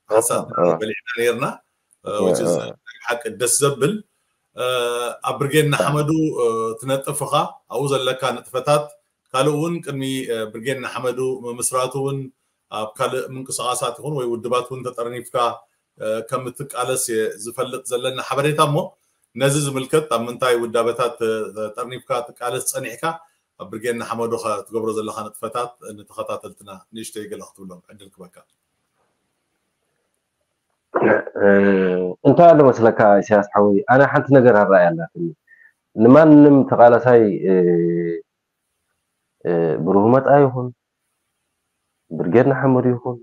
ሓሳብ በሊዕና ነይርና። ሓቂ ደስ ዘብል ኣብ ብርጌድ ንሓመዱ ትነጥፍ ኢኻ ኣብኡ ዘለካ ንጥፈታት ካልእ እውን ቅድሚ ብርጌድ ንሓመዱ ምምስራቱ እውን ኣብ ካልእ ምንቅስቃሳት ይኹን ወይ ውድባት እውን ተጠርኒፍካ ከም እትቃለስ ዝፈልጥ ዘለና ሓበሬታ እሞ ነዚ ዝምልከት ኣብ ምንታይ ውዳበታት ተጠርኒፍካ ትቃለስ ፀኒሕካ ኣብ ብርጌድ ንሓመዱ ትገብሮ ዘለካ ንጥፈታት ንተኸታተልትና ንእሽተይ ገለ ክትብሎም ዕድል ክበካ። እንታይ ኣሎ መስለካ ኢሳያስ ሓወይ ኣነ ሓንቲ ነገር ኣረኣያ ኣላትኒ። ንማንም ተቃላሳይ ብሩህ መጣ ይኹን ብርጌድ ንሓመዱ ይኹን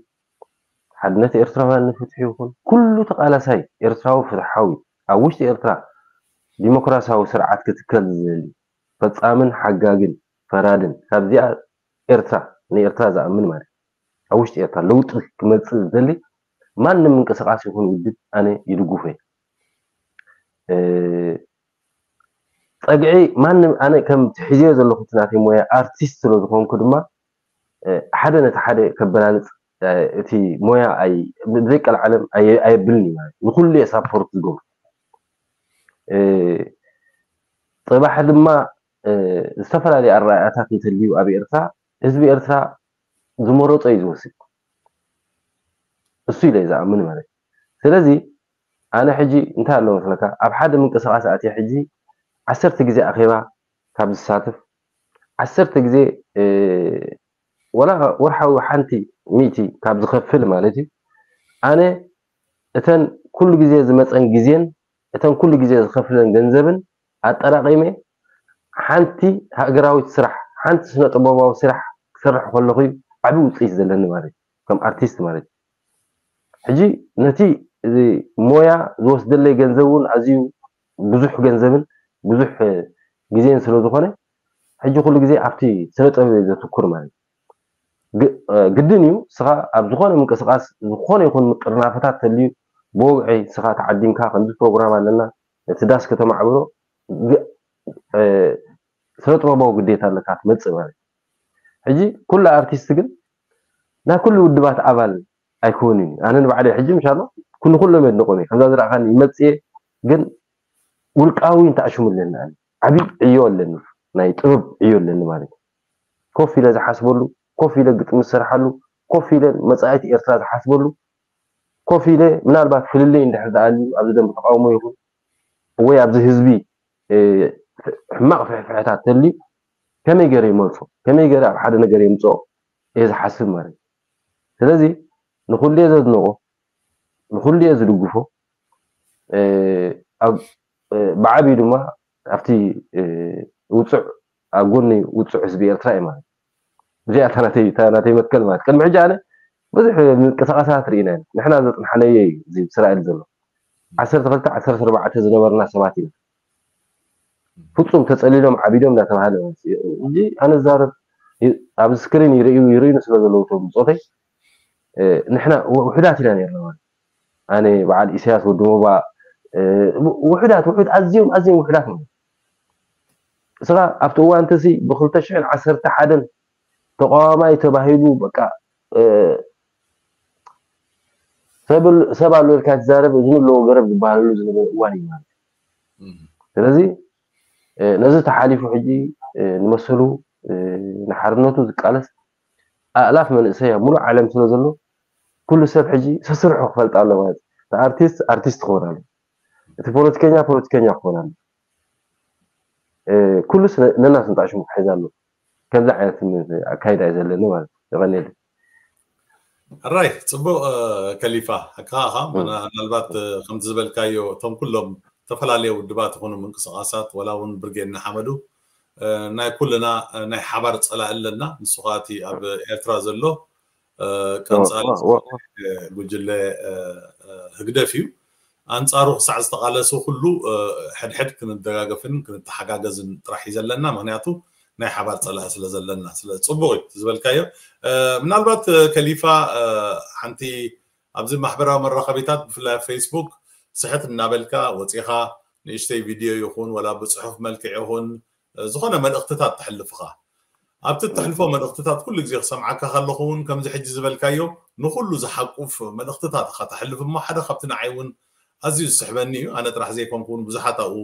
ሓድነት ኤርትራውያን ንፍትሒ ይኹን ኩሉ ተቃላሳይ ኤርትራዊ ፍትሓዊ ኣብ ውሽጢ ኤርትራ ዲሞክራሲያዊ ስርዓት ክትከል ዝደሊ ፈጻምን ሓጋግን ፈራድን ካብዚኣ ኤርትራ ንኤርትራ ዝኣምን ማለት ኣብ ውሽጢ ኤርትራ ለውጢ ክመጽእ ዝደሊ ማንም ምንቅስቃስ ይኹን ውድብ ኣነ ይድግፎ እየ። ጸግዒ ማንም ኣነ ከም ትሕዝዮ ዘለኹ እቲ ናተይ ሞያ ኣርቲስት ስለ ዝኾንኩ ድማ ሓደ ነቲ ሓደ ከበላልፅ እቲ ሞያ ብዘይቀልዓለም ኣየብልን እዩ ማለት ንኩሉ እየ ሳፖርት ዝገብሩ። ፅባሕ ድማ ዝተፈላለዩ ኣረኣእያታት እንተልዩ ኣብ ኤርትራ ህዝቢ ኤርትራ ዝመረፆ እዩ ዝወስድ እሱ ኢለ ዝኣምን ማለት እዩ። ስለዚ ኣነ ሕጂ እንታይ ኣሎ መስለካ ኣብ ሓደ ምንቅስቃስ ኣትየ ሕጂ ዓሰርተ ግዜ ኣኼባ ካብ ዝሳተፍ ዓሰርተ ግዜ ወላ ወርሓዊ ሓንቲ ሚእቲ ካብ ዝኸፍል ማለት እዩ ኣነ እተን ኩሉ ግዜ ዝመፀን ግዜን እተን ኩሉ ግዜ ዝኸፍለን ገንዘብን ኣጠራቂመ ሓንቲ ሃገራዊት ስራሕ፣ ሓንቲ ስነ ጥበባዊ ስራሕ ክሰርሕ ከለኹ እዩ ዓቢ ውፅኢት ዘለኒ ማለት እዩ፣ ከም ኣርቲስት ማለት እዩ። ሕጂ ነቲ እዚ ሞያ ዝወስደለይ ገንዘብ እውን ኣዝዩ ብዙሕ ገንዘብን ብዙሕ ግዜን ስለ ዝኾነ፣ ሕጂ ኩሉ ግዜ ኣብቲ ስነ ጥበብ እየ ዘትኩር ማለት እዩ። ግ- እ፣ ግድን እዩ፣ ስኻ ኣብ ዝኾነ ምንቅስቃስ፣ ዝኾነ ይኹን ምጥርናፈታት ተልዩ፣ ብወግዒ ስኻ ተዓዲምካ፣ ከምዚ ፕሮግራም ኣለና፣ ነቲ ዳስ ከተማዕብሮ፣ ግ- እ፣ ስነ ጥበባዊ ግዴታ ኣለካ ትመጽእ ማለት እዩ። ሕጂ ኩሉ ኣርቲስት ግን ናይ ኩሉ ውድባት ኣባል ኣይኮንን እዩ። ኣነ ንባዕለይ ሕጂ ምሻሎ ኩሉ ኩሎም የድንቆም እየ። ከምዛ ዝረኣኻኒ ይመጽእ እየ፣ ግን ውልቃዊ እንተኣሽሙ ኣለኒ፣ ኣነ ዓብዪ ዕዮ ኣለኒ፣ ናይ ጥበብ ዕዮ ኣለኒ ማለት እዩ። ኮፍ ኢለ ዝሓስበሉ፣ ኮፍ ኢለ ግጥሚ ዝሰርሓሉ፣ ኮፍ ኢለ መጻኢት ኤርትራ ዝሓስበሉ፣ ኮፍ ኢለ ምናልባት ፍልልይ እንድሕር ደኣ ኣልዩ ኣብዚ ደንበ ተቃውሞ ይኹን ወይ ኣብዚ ህዝቢ፣ እ፣ ሕማቕ ፍሕፍሕታት ተልዩ ከመይ ገይረ ይመልሶ፣ ከመይ ገይረ ኣብ ሓደ ነገር የምጽኦ እየ ዝሓስብ ማለት እዩ። ስለዚ ንኹሉ እየ ዘድንቆ፣ ንኹሉ እየ ዝድግፎ። እ፣ ኣብ፣ እ፣ ብዓብዩ ድማ ኣብቲ፣ እ፣ ውጹዕ፣ ኣብ ጎኒ ውጹዕ ህዝቢ ኤርትራ እዩ ማለት እዩ። እዚኣ እታ ናተይ፣ እታ ናተይ መትከል ማለት። ቅድሚ ሕጂ ኣነ ብዙሕ ምንቅስቃሳት ርኢና ኢና። ንሕና ዘጽንሓናዮ እዩ እዚ እስራኤል ዘሎ። ዓሰርተ ክልተ ዓሰርተ ኣርባዕተ ዝነበርና ሰባት ኢና። ፍጹም ተጸሊሎም ዓቢዶም እንዳተባሃለ ማለት እዩ። ሕጂ ኣነ ዝዛረብ ይ-፣ ኣብ ስክሪን ይርእዩ፣ ይርእዩኒ ስለ ዘለዉ እቶም ብጾተይ፣ እ፣ ንሕና ው-፣ ውሑዳት ኢና ነርና ማለት። ኣነ በዓል ኢሳያስ ወዲ ሞባ፣ እ፣ ው-፣ ውሑዳት፣ ውሑድ፣ ኣዝዮም፣ ኣዝዮም ውሑዳት ማለት። እስኻ ኣብቲ እዋን እቲ ሲ ብክልተ ሽሕን ዓሰርተ ሓደን ተቃዋማይ ተባሂሉ በቃ፣ እ፣ ሰብ ል-፣ ሰብ ኣሎ ኢልካ ትዛረብ፣ እዝኒ ኣለዎ ገረብ ዝበሃለሉ ዝነበረ እዋን እዩ ማለት እዩ። እም። ስለዚ፣ እ፣ ነዚ ተሓሊፉ ሕጂ፣ እ፣ ንመሰሉ፣ እ፣ ንሓርነቱ ዝቃለስ ኣእላፍ መንእሰይ ኣብ ሙሉእ ዓለም ስለ ዘሎ፣ ኩሉ ሰብ ሕጂ ሰስርሑ ክፈልጥ ኣሎ ማለት እዩ። እቲ ኣርቲስት፣ ኣርቲስት ክኸውን ኣሎ። እቲ ፖለቲከኛ፣ ፖለቲከኛ ክኸውን ኣሎ። እ፣ ኩሉስ ነ-፣ ነናቱ እንጣሽሙ ክሕዝ ኣሎ። ከምዚ ዓይነት ኣካይዳ እዩ ዘለኒ ማለት እዩ። የቐንየለይ። ሕራይ፣ ጽቡቕ፣ እ፣ ከሊፋ፣ ሓቅኻ፣ እም። ምና-፣ ምናልባት፣ እ፣ ከምቲ ዝበልካዮ፣ እቶም ኩሎም ዝተፈላለዩ ውድባት ይኹኑ ምንቅስቃሳት፣ ወላ እውን ብርጌድ ንሓመዱ፣ እ፣ ናይ ኩልና፣ እ፣ ናይ ሓባር ጸላኢ ኣለና። ንሱ ኸኣ እቲ ኣብ ኤርትራ ዘሎ፣ እ፣ ቀንጻሊ ዋ፣ ዋ፣ ዋ። እ፣ ጉጅለ፣ እ፣ እ፣ ህግደፍ እዩ። ኣንጻሩ ክሳዕ ዝተቓለሱ ኩሉ፣ እ፣ ሕድሕድ ክንደጋገፍን ክንተሓጋገዝን ጥራሕ እዩ ዘለና። ምኽንያቱ ናይ ሓባር ጸላኢ ስለ ዘለና። ስለ ጽቡቕ እዩ እቲ ዝበልካዮ። እ፣ ምናልባት፣ እ፣ ከሊፋ፣ እ፣ ሓንቲ ኣብዚ ማሕበራዊ መራኸቢታት ብፍላይ ኣብ ፌስቡክ ስሕት እናበልካ ወጺኻ ንእሽተይ ቪድዮ ይኹን ወላ ብጽሑፍ መልክዕ ይኹን እ፣ ዝኾነ መልእኽትታት ተሕልፍ ኢኻ። ኣብቲ እተሕልፎ እም። መልእኽትታት ኩሉ ግዜ ክሰምዓካ ከለኹ እውን ከምዚ ሕጂ ዝበልካዮ ንኹሉ ዝሓቁፍ መልእኽትታት ኢኻ ተሕልፍ እሞ ሓደ ካብቲ ንዓይ እውን ኣዝዩ ዝስሕበኒ እዩ። ኣነ ጥራሕ ዘይኮንኩ እውን ብዙሓት ኣብኡ፣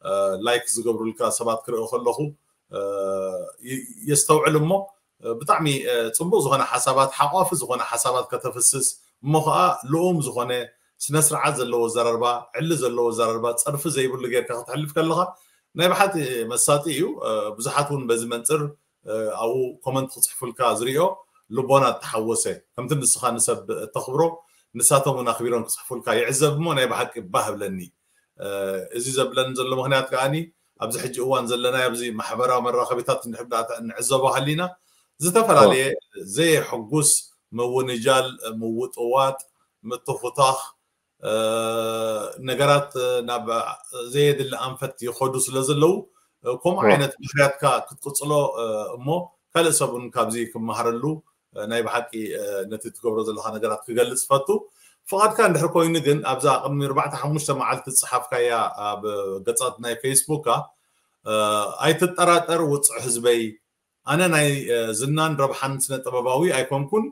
እ፣ ላይክ ዝገብሩልካ ሰባት ክርኢ ከለኹ፣ እ፣ ይ-፣ የስተውዕል እሞ፣ እ፣ ብጣዕሚ፣ እ፣ ጽቡቕ ዝኾነ ሓሳባት፣ ሓቋፊ ዝኾነ ሓሳባት ከተፍስስ እሞ ኸኣ ልኡም ዝኾነ ስነ ስርዓት ዘለዎ ኣዘራርባ፣ ዕሊ ዘለዎ ኣዘራርባ፣ ጸርፊ ዘይብሉ ጌርካ ከተሕልፍ ከለኻ ናይ ብሓቂ መሳጢ እዩ። እ፣ ብዙሓት እውን በዚ መንጽር፣ እ፣ ኣብኡ ኮመንት ክጽሕፉልካ ዝርእዮ ልቦና እተሓወሰ፣ ከምቲ ንስኻ ንሰብ እተኽብሮ ንሳቶም እውን ኣኽቢሮም ክጽሕፉልካ ይዕዘብ እሞ ናይ ብሓቂ ባህ እብለኒ። እ፣ እዚ ዘብለኒ ዘሎ ምኽንያት ከኣኒ ኣብዚ ሕጂ እዋን ዘለናዮ ኣብዚ ማሕበራዊ መራኸቢታት እንድሕር ደኣ ንዕዘቦ ሃሊና ዝተፈላለየ ዘየሕጉስ ምውንጃል፣ ምውጥዋጥ፣ ምትኹታኽ፣ እ፣ ነገራት፣ እ፣ ናብ ዘየድሊ ኣንፈት ይኸዱ ስለ ዘለዉ፣ እ፣ ከምኡ እወ። ዓይነት ባህርያትካ ክትቅጽሎ፣ እ፣ እሞ ካልእ ሰብ እውን ካብዚ ክመሃረሉ፣ እ፣ ናይ ብሓቂ፣ እ፣ ነቲ ትገብሮ ዘለኻ ነገራት ክገልጽ ፈቱ። ፍቓድካ እንድሕር ኮይኑ ግን ኣብዛ ቅድሚ ኣርባዕተ ሓሙሽተ መዓልቲ ዝጸሓፍካያ ኣብ ገጻት ናይ ፌስቡካ፣ እ፣ ኣይትጠራጠር ውጹዕ ህዝበይ፣ ኣነ ናይ፣ እ፣ ዝናን ረብሓን ስነ ጥበባዊ ኣይኮንኩን፣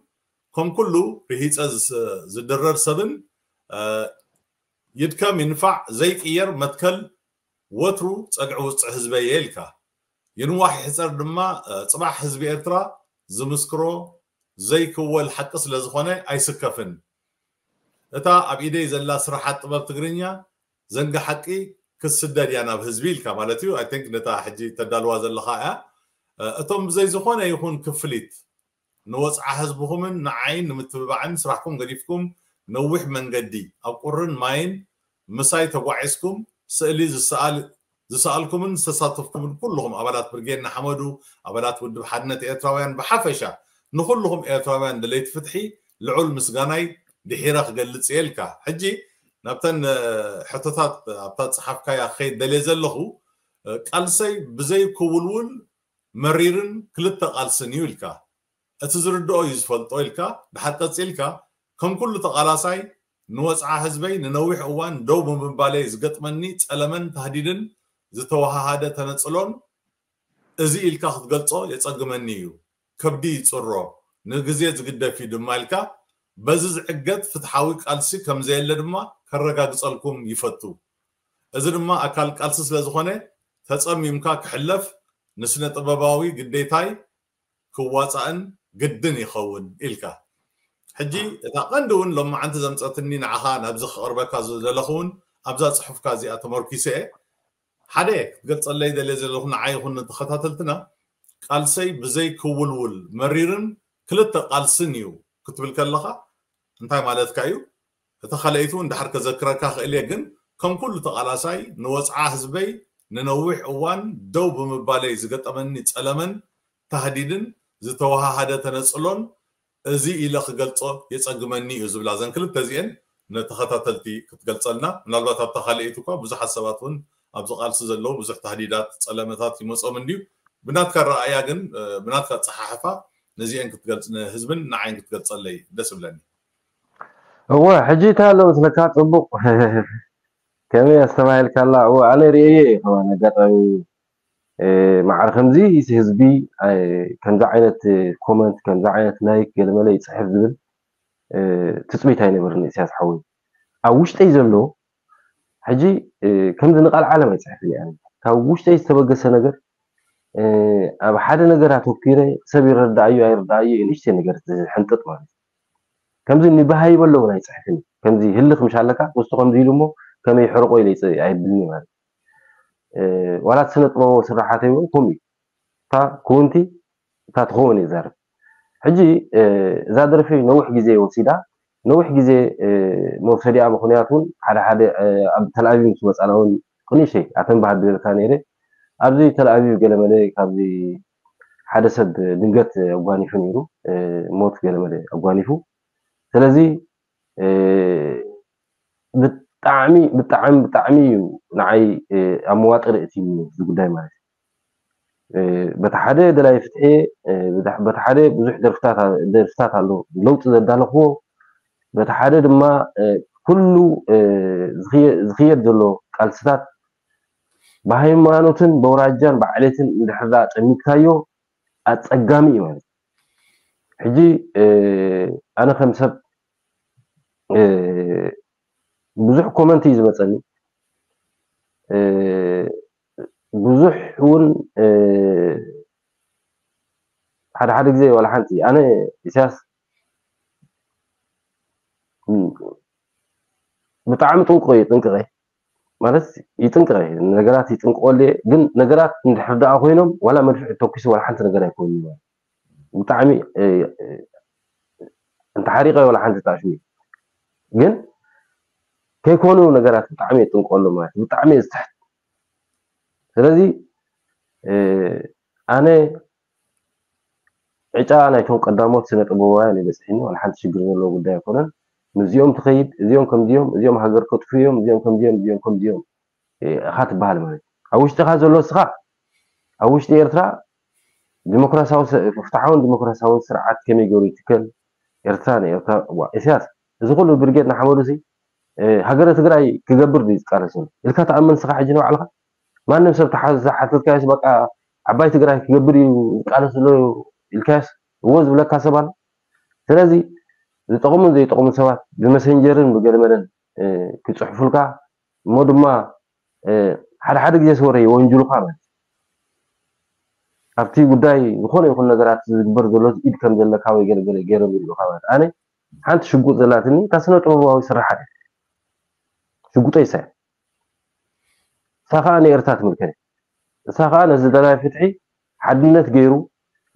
ከም ኩሉ ርሂጸ ዝስ-፣ ዝድረር ሰብን፣ እ፣ ይድከም ይንፋዕ ዘይቅየር መትከል ወትሩ ጸግዒ ውጽዕ ህዝበይ እየ ኢልካ። ይንዋሕ ይሕጸር ድማ፣ እ፣ ጽባሕ ህዝቢ ኤርትራ ዝምስክሮ ዘይክወል ሓቂ ስለ ዝኾነ ኣይስከፍን። እታ ኣብ ኢደይ ዘላ ስራሓት ጥበብ ትግርኛ ዘንጊ ሓቂ ክትስደድ እያ ናብ ህዝቢ ኢልካ ማለት እዩ። I think ነታ ሕጂ ተዳልዋ ዘለኻ እያ። እ፣ እቶም ብዘይ ዝኾነ ይኹን ክፍሊት ንወጽዓ ህዝብኹምን ንዓይን ንምትብባዕን ስራሕኩም ገዲፍኩም ነዊሕ መንገዲ ኣብ ቁርን ማይን ምሳይ ተጓዒዝኩም ስእሊ ዝሰኣል ዝሰኣልኩምን ዝተሳተፍኩምን ኩልኹም ኣባላት ብርጌድ ንሓመዱ፣ ኣባላት ውድብ ሓድነት ኤርትራውያን ብሓፈሻ፣ ንኹልኹም ኤርትራውያን ደለይቲ ፍትሒ ልዑል ምስጋናይ ድሒረ ክገልጽ እየ ኢልካ። ሕጂ ናብተን ሕቶታት ኣብታ ጸሓፍካያ ክኸይድ ደልየ ዘለኹ፣ ቃልሰይ ብዘይ ክውልውል መሪርን ክልተ ቃልስን እዩ ኢልካ። እቲ ዝርድኦ እዩ ዝፈልጦ ኢልካ ድሓር ቀጺልካ፣ ከም ኩሉ ተቓላሳይ ንወጽዓ ህዝበይ ንነዊሕ እዋን ደው ብምባለይ ዝገጥመኒ ጸለመን ታህዲድን ዝተወሃሃደ ተነጽሎን እዚ ኢልካ ክትገልጾ የጸግመኒ እዩ። ከብዲ ይጽሮ፣ ንግዜ ዝግደፍ እዩ ድማ ኢልካ በዚ ዝዕገት ፍትሓዊ ቃልሲ ከም ዘየለ ድማ ከረጋግጸልኩም ይፈቱ። እዚ ድማ ኣካል ቃልሲ ስለ ዝኾነ ተጸሚምካ ክሕለፍ ንስነ ጥበባዊ ግዴታይ ክዋጻእን ግድን ይኸውን ኢልካ። ሕጂ እታ ቀንዲ እውን ሎማዓንቲ ዘምጸትኒ ንዓኻ ናብዚ ክቕርበካ ዝደለኹ እውን ኣብዛ ጽሑፍካ እዚኣ ተመርኪሰ እየ። ሓደ ክትገልጸለይ ደልየ ዘለኹ ንዓይ ይኹን ንተኸታተልትና ቃልሰይ ብዘይ ክውልውል መሪርን ክልተ ቃልስን እዩ ክትብል ከለኻ እንታይ ማለትካ እዩ? እቲ ካልኣይቲ እውን ድሓር ከዘክረካ ክእል እየ፣ ግን ከም ኩሉ ተቓላሳይ ንወጽዓ ህዝበይ ንነዊሕ እዋን ደው ብምባለይ ዝገጠመኒ ጸለመን ታህዲድን ዝተወሃሃደ ተነጽሎን እዚ ኢለ ክገልጾ የጸግመኒ እዩ ዝብላ እዘን ክልተ እዚኤን ንተኸታተልቲ ክትገልጸልና። ምናልባት ኣብታ ካልኣይቲ እኳ ብዙሓት ሰባት እውን ኣብዚ ቃልሲ ዘለዉ ብዙሕ ታህዲዳት፣ ጸለመታት ይመጾም እንድዩ። ብናትካ ረኣያ ግን፣ እ፣ ብናትካ ኣጸሓሕፋ ነዚኤን ክትገልጽ ንህዝብን ንዓይን ክትገልጸለይ ደስ እብለኒ። እወ፣ ሕጂ እንታይ ኣሎ መስለካ ጽቡቕ ከመይ ኣስተባሂልካላ? እወ፣ ኣነ ርእየ እየ ከማን ኣጋጣሚ፣ እ፣ ማዕረ ከምዚ እቲ ህዝቢ፣ እ፣ ከምዚ ዓይነት፣ እ፣ ኮመንት፣ ከምዚ ዓይነት ላይክ ገለመለ ይጽሕፍ ዝብል፣ እ፣ ትጽቢት ኣይነበርኒ ኢሳያስ ሓወይ። ኣብ ውሽጠይ ዘሎ ሕጂ፣ እ፣ ከምዚ ንቃል ዓለም ኣይጽሕፍን እየ ኣነ። ካብ ውሽጠይ ዝተበገሰ ነገር፣ እ፣ ኣብ ሓደ ነገር ኣተኲረ ሰብ ይረዳኣዩ ኣይረዳኣዩ ንእሽተይ ነገር ዝሕንጥጥ ማለት እዩ። ከምዚ ንበሃይበ ኣለውን ኣይጽሕፍን። ከምዚ ህልኽ ምሽ ኣለካ፣ ውስጡ ከምዚ ኢሉ እሞ ከመይ ይሕርቆ ኢለ ይጽ-፣ ኣይብልኒ ማለት እዩ። እ፣ ዋላ እቲ ስነ ጥበባዊ ስራሓተይ እውን ከምኡ እዩ። እታ ክውንቲ እታ ትኸውን እየ ዝዛረብ። ሕጂ፣ እ፣ እዛ ደርፊ ነዊሕ ግዜ ወሲዳ፣ ነዊሕ ግዜ፣ እ፣ መውሰዲኣ ምኽንያት እውን ሓደ ሓደ፣ እ፣ ኣብ ተልኣቪቭ ምስ መጻና እውን ቅንእሽተይ ኣተን ባህር ድበልካ ነይረ። ኣብዚ ተልኣቪቭ ገለመለ ካብዚ ሓደ ሰብ ድንገት ኣጓኒፉ ነይሩ፣ እ፣ ሞት ገለመለ ኣጓኒፉ። ስለዚ፣ እ፣ ብጣዕሚ፣ ብጣዕሚ፣ ብጣዕሚ እዩ ንዓይ፣ እ፣ ኣብ መዋጥር እትይኒ እዚ ጉዳይ ማለት እዩ። እ፣ በቲ ሓደ ደላይ ፍትሒ፣ እ፣ በቲ፣ በቲ ሓደ ብዙሕ ደርፍታት ኣ-፣ ደርፍታት ኣሎ ለውጢ ዘዳለኽዎ፣ በቲ ሓደ ድማ፣ እ፣ ኩሉ፣ እ፣ ዝኽየ-፣ ዝኽየድ ዘሎ ቃልስታት ብሃይማኖትን በውራጃን ብዓሌትን እንድሕር ደኣ ጠሚትካዮ ኣጸጋሚ እዩ ማለት እዩ። ሕጂ፣ እ፣ ኣነ ከም ሰብ፣ እ፣ ብዙሕ ኮመንት እዩ ዝመጸኒ። እ፣ ብዙሕ እውን፣ እ፣ ሓደ ሓደ ግዜ ዋላ ሓንቲ ኣነ ኢሳያስ፣ ም፣ ብጣዕሚ ጥንቁቕ እዩ፣ ጥንቅቐ ማለት ይጥንቅቐ፣ ነገራት ይጥንቅቐሉ እየ። ግን ነገራት እንድሕር ደኣ ኮይኖም ዋላ መድፍዕ ተኩሱ ዋላ ሓንቲ ነገር ኣይኮኑን። ብጣዕሚ፣ እ፣ እ፣ እንተሓሪቐ ዋላ ሓንቲ ጣሽሚ። ግን ከይኮኑ ነገራት ብጣዕሚ የጥንቀሉ ማለት እዩ። ብጣዕሚ እየ ዝትሕት። ስለዚ፣ እ፣ ኣነ ዕጫ ናይቶም ቀዳሞት ስነ ጥበባውያን እዩ በፂሕኒ። ዋላ ሓንቲ ሽግር ዘለዎ ጉዳይ ኣይኮነን። ምስዚኦም ትኸይድ፣ እዚኦም ከምዚኦም፣ እዚኦም ሃገር ከጥፉ እዮም፣ እዚኦም ከምዚኦም፣ እዚኦም ከምዚኦም፣ እ፣ ኢኻ ትበሃል ማለት እዩ። ኣብ ውሽጥኻ ዘሎ እስኻ፣ ኣብ ውሽጢ ኤርትራ ዲሞክራሲያዊ ስ-፣ ፍትሓውን ዲሞክራሲያውን ስርዓት ከመይ ገይሩ ይትከል? ኤርትራ ንኤርትራ፣ ዋ፣ ኢሳያስ፣ እዚ ኩሉ ብርጌድ ንሓመዱ ሲ፣ እ፣ ሃገረ ትግራይ ክገብር ድዩ ዝቃለስ ዘሎ? ኢልካ ትኣምን እስኻ ሕጂ ንባዕልኻ? ማንም ሰብ ተሓ-፣ ዝሓተትካዮስ በቃ ዓባይ ትግራይ ክገብር እዩ ዝቃለስ ዘሎ ኢልካዮስ እዎ ዝብለካ ሰብ ኣሎ? ስለዚ ዝጠቕሙን ዘይጠቕሙን ሰባት ብመሰንጀርን ብገለመለን፣ እ፣ ክጽሕፉልካ እሞ ድማ፣ እ፣ ሓደ ሓደ ግዜ ወረ የወንጅሉኻ ማለት እዩ። ኣብቲ ጉዳይ ዝኾነ ይኹን ነገራት ዝግበር ዘሎ ኢድ ከም ዘለካ ወይ ገለ ገለ ገይሮም ይብሉኻ ማለት። ኣነ ሓንቲ ሽጉጥ ዘላትኒ እታ ስነ ጥበባዊ ስርሓት እያ። ሽጉጠይ እሳ እያ። እሳ ኸኣ ንኤርትራ ትምልከት እያ። እሳ ኸኣ ነዚ ደላይ ፍትሒ ሓድነት ገይሩ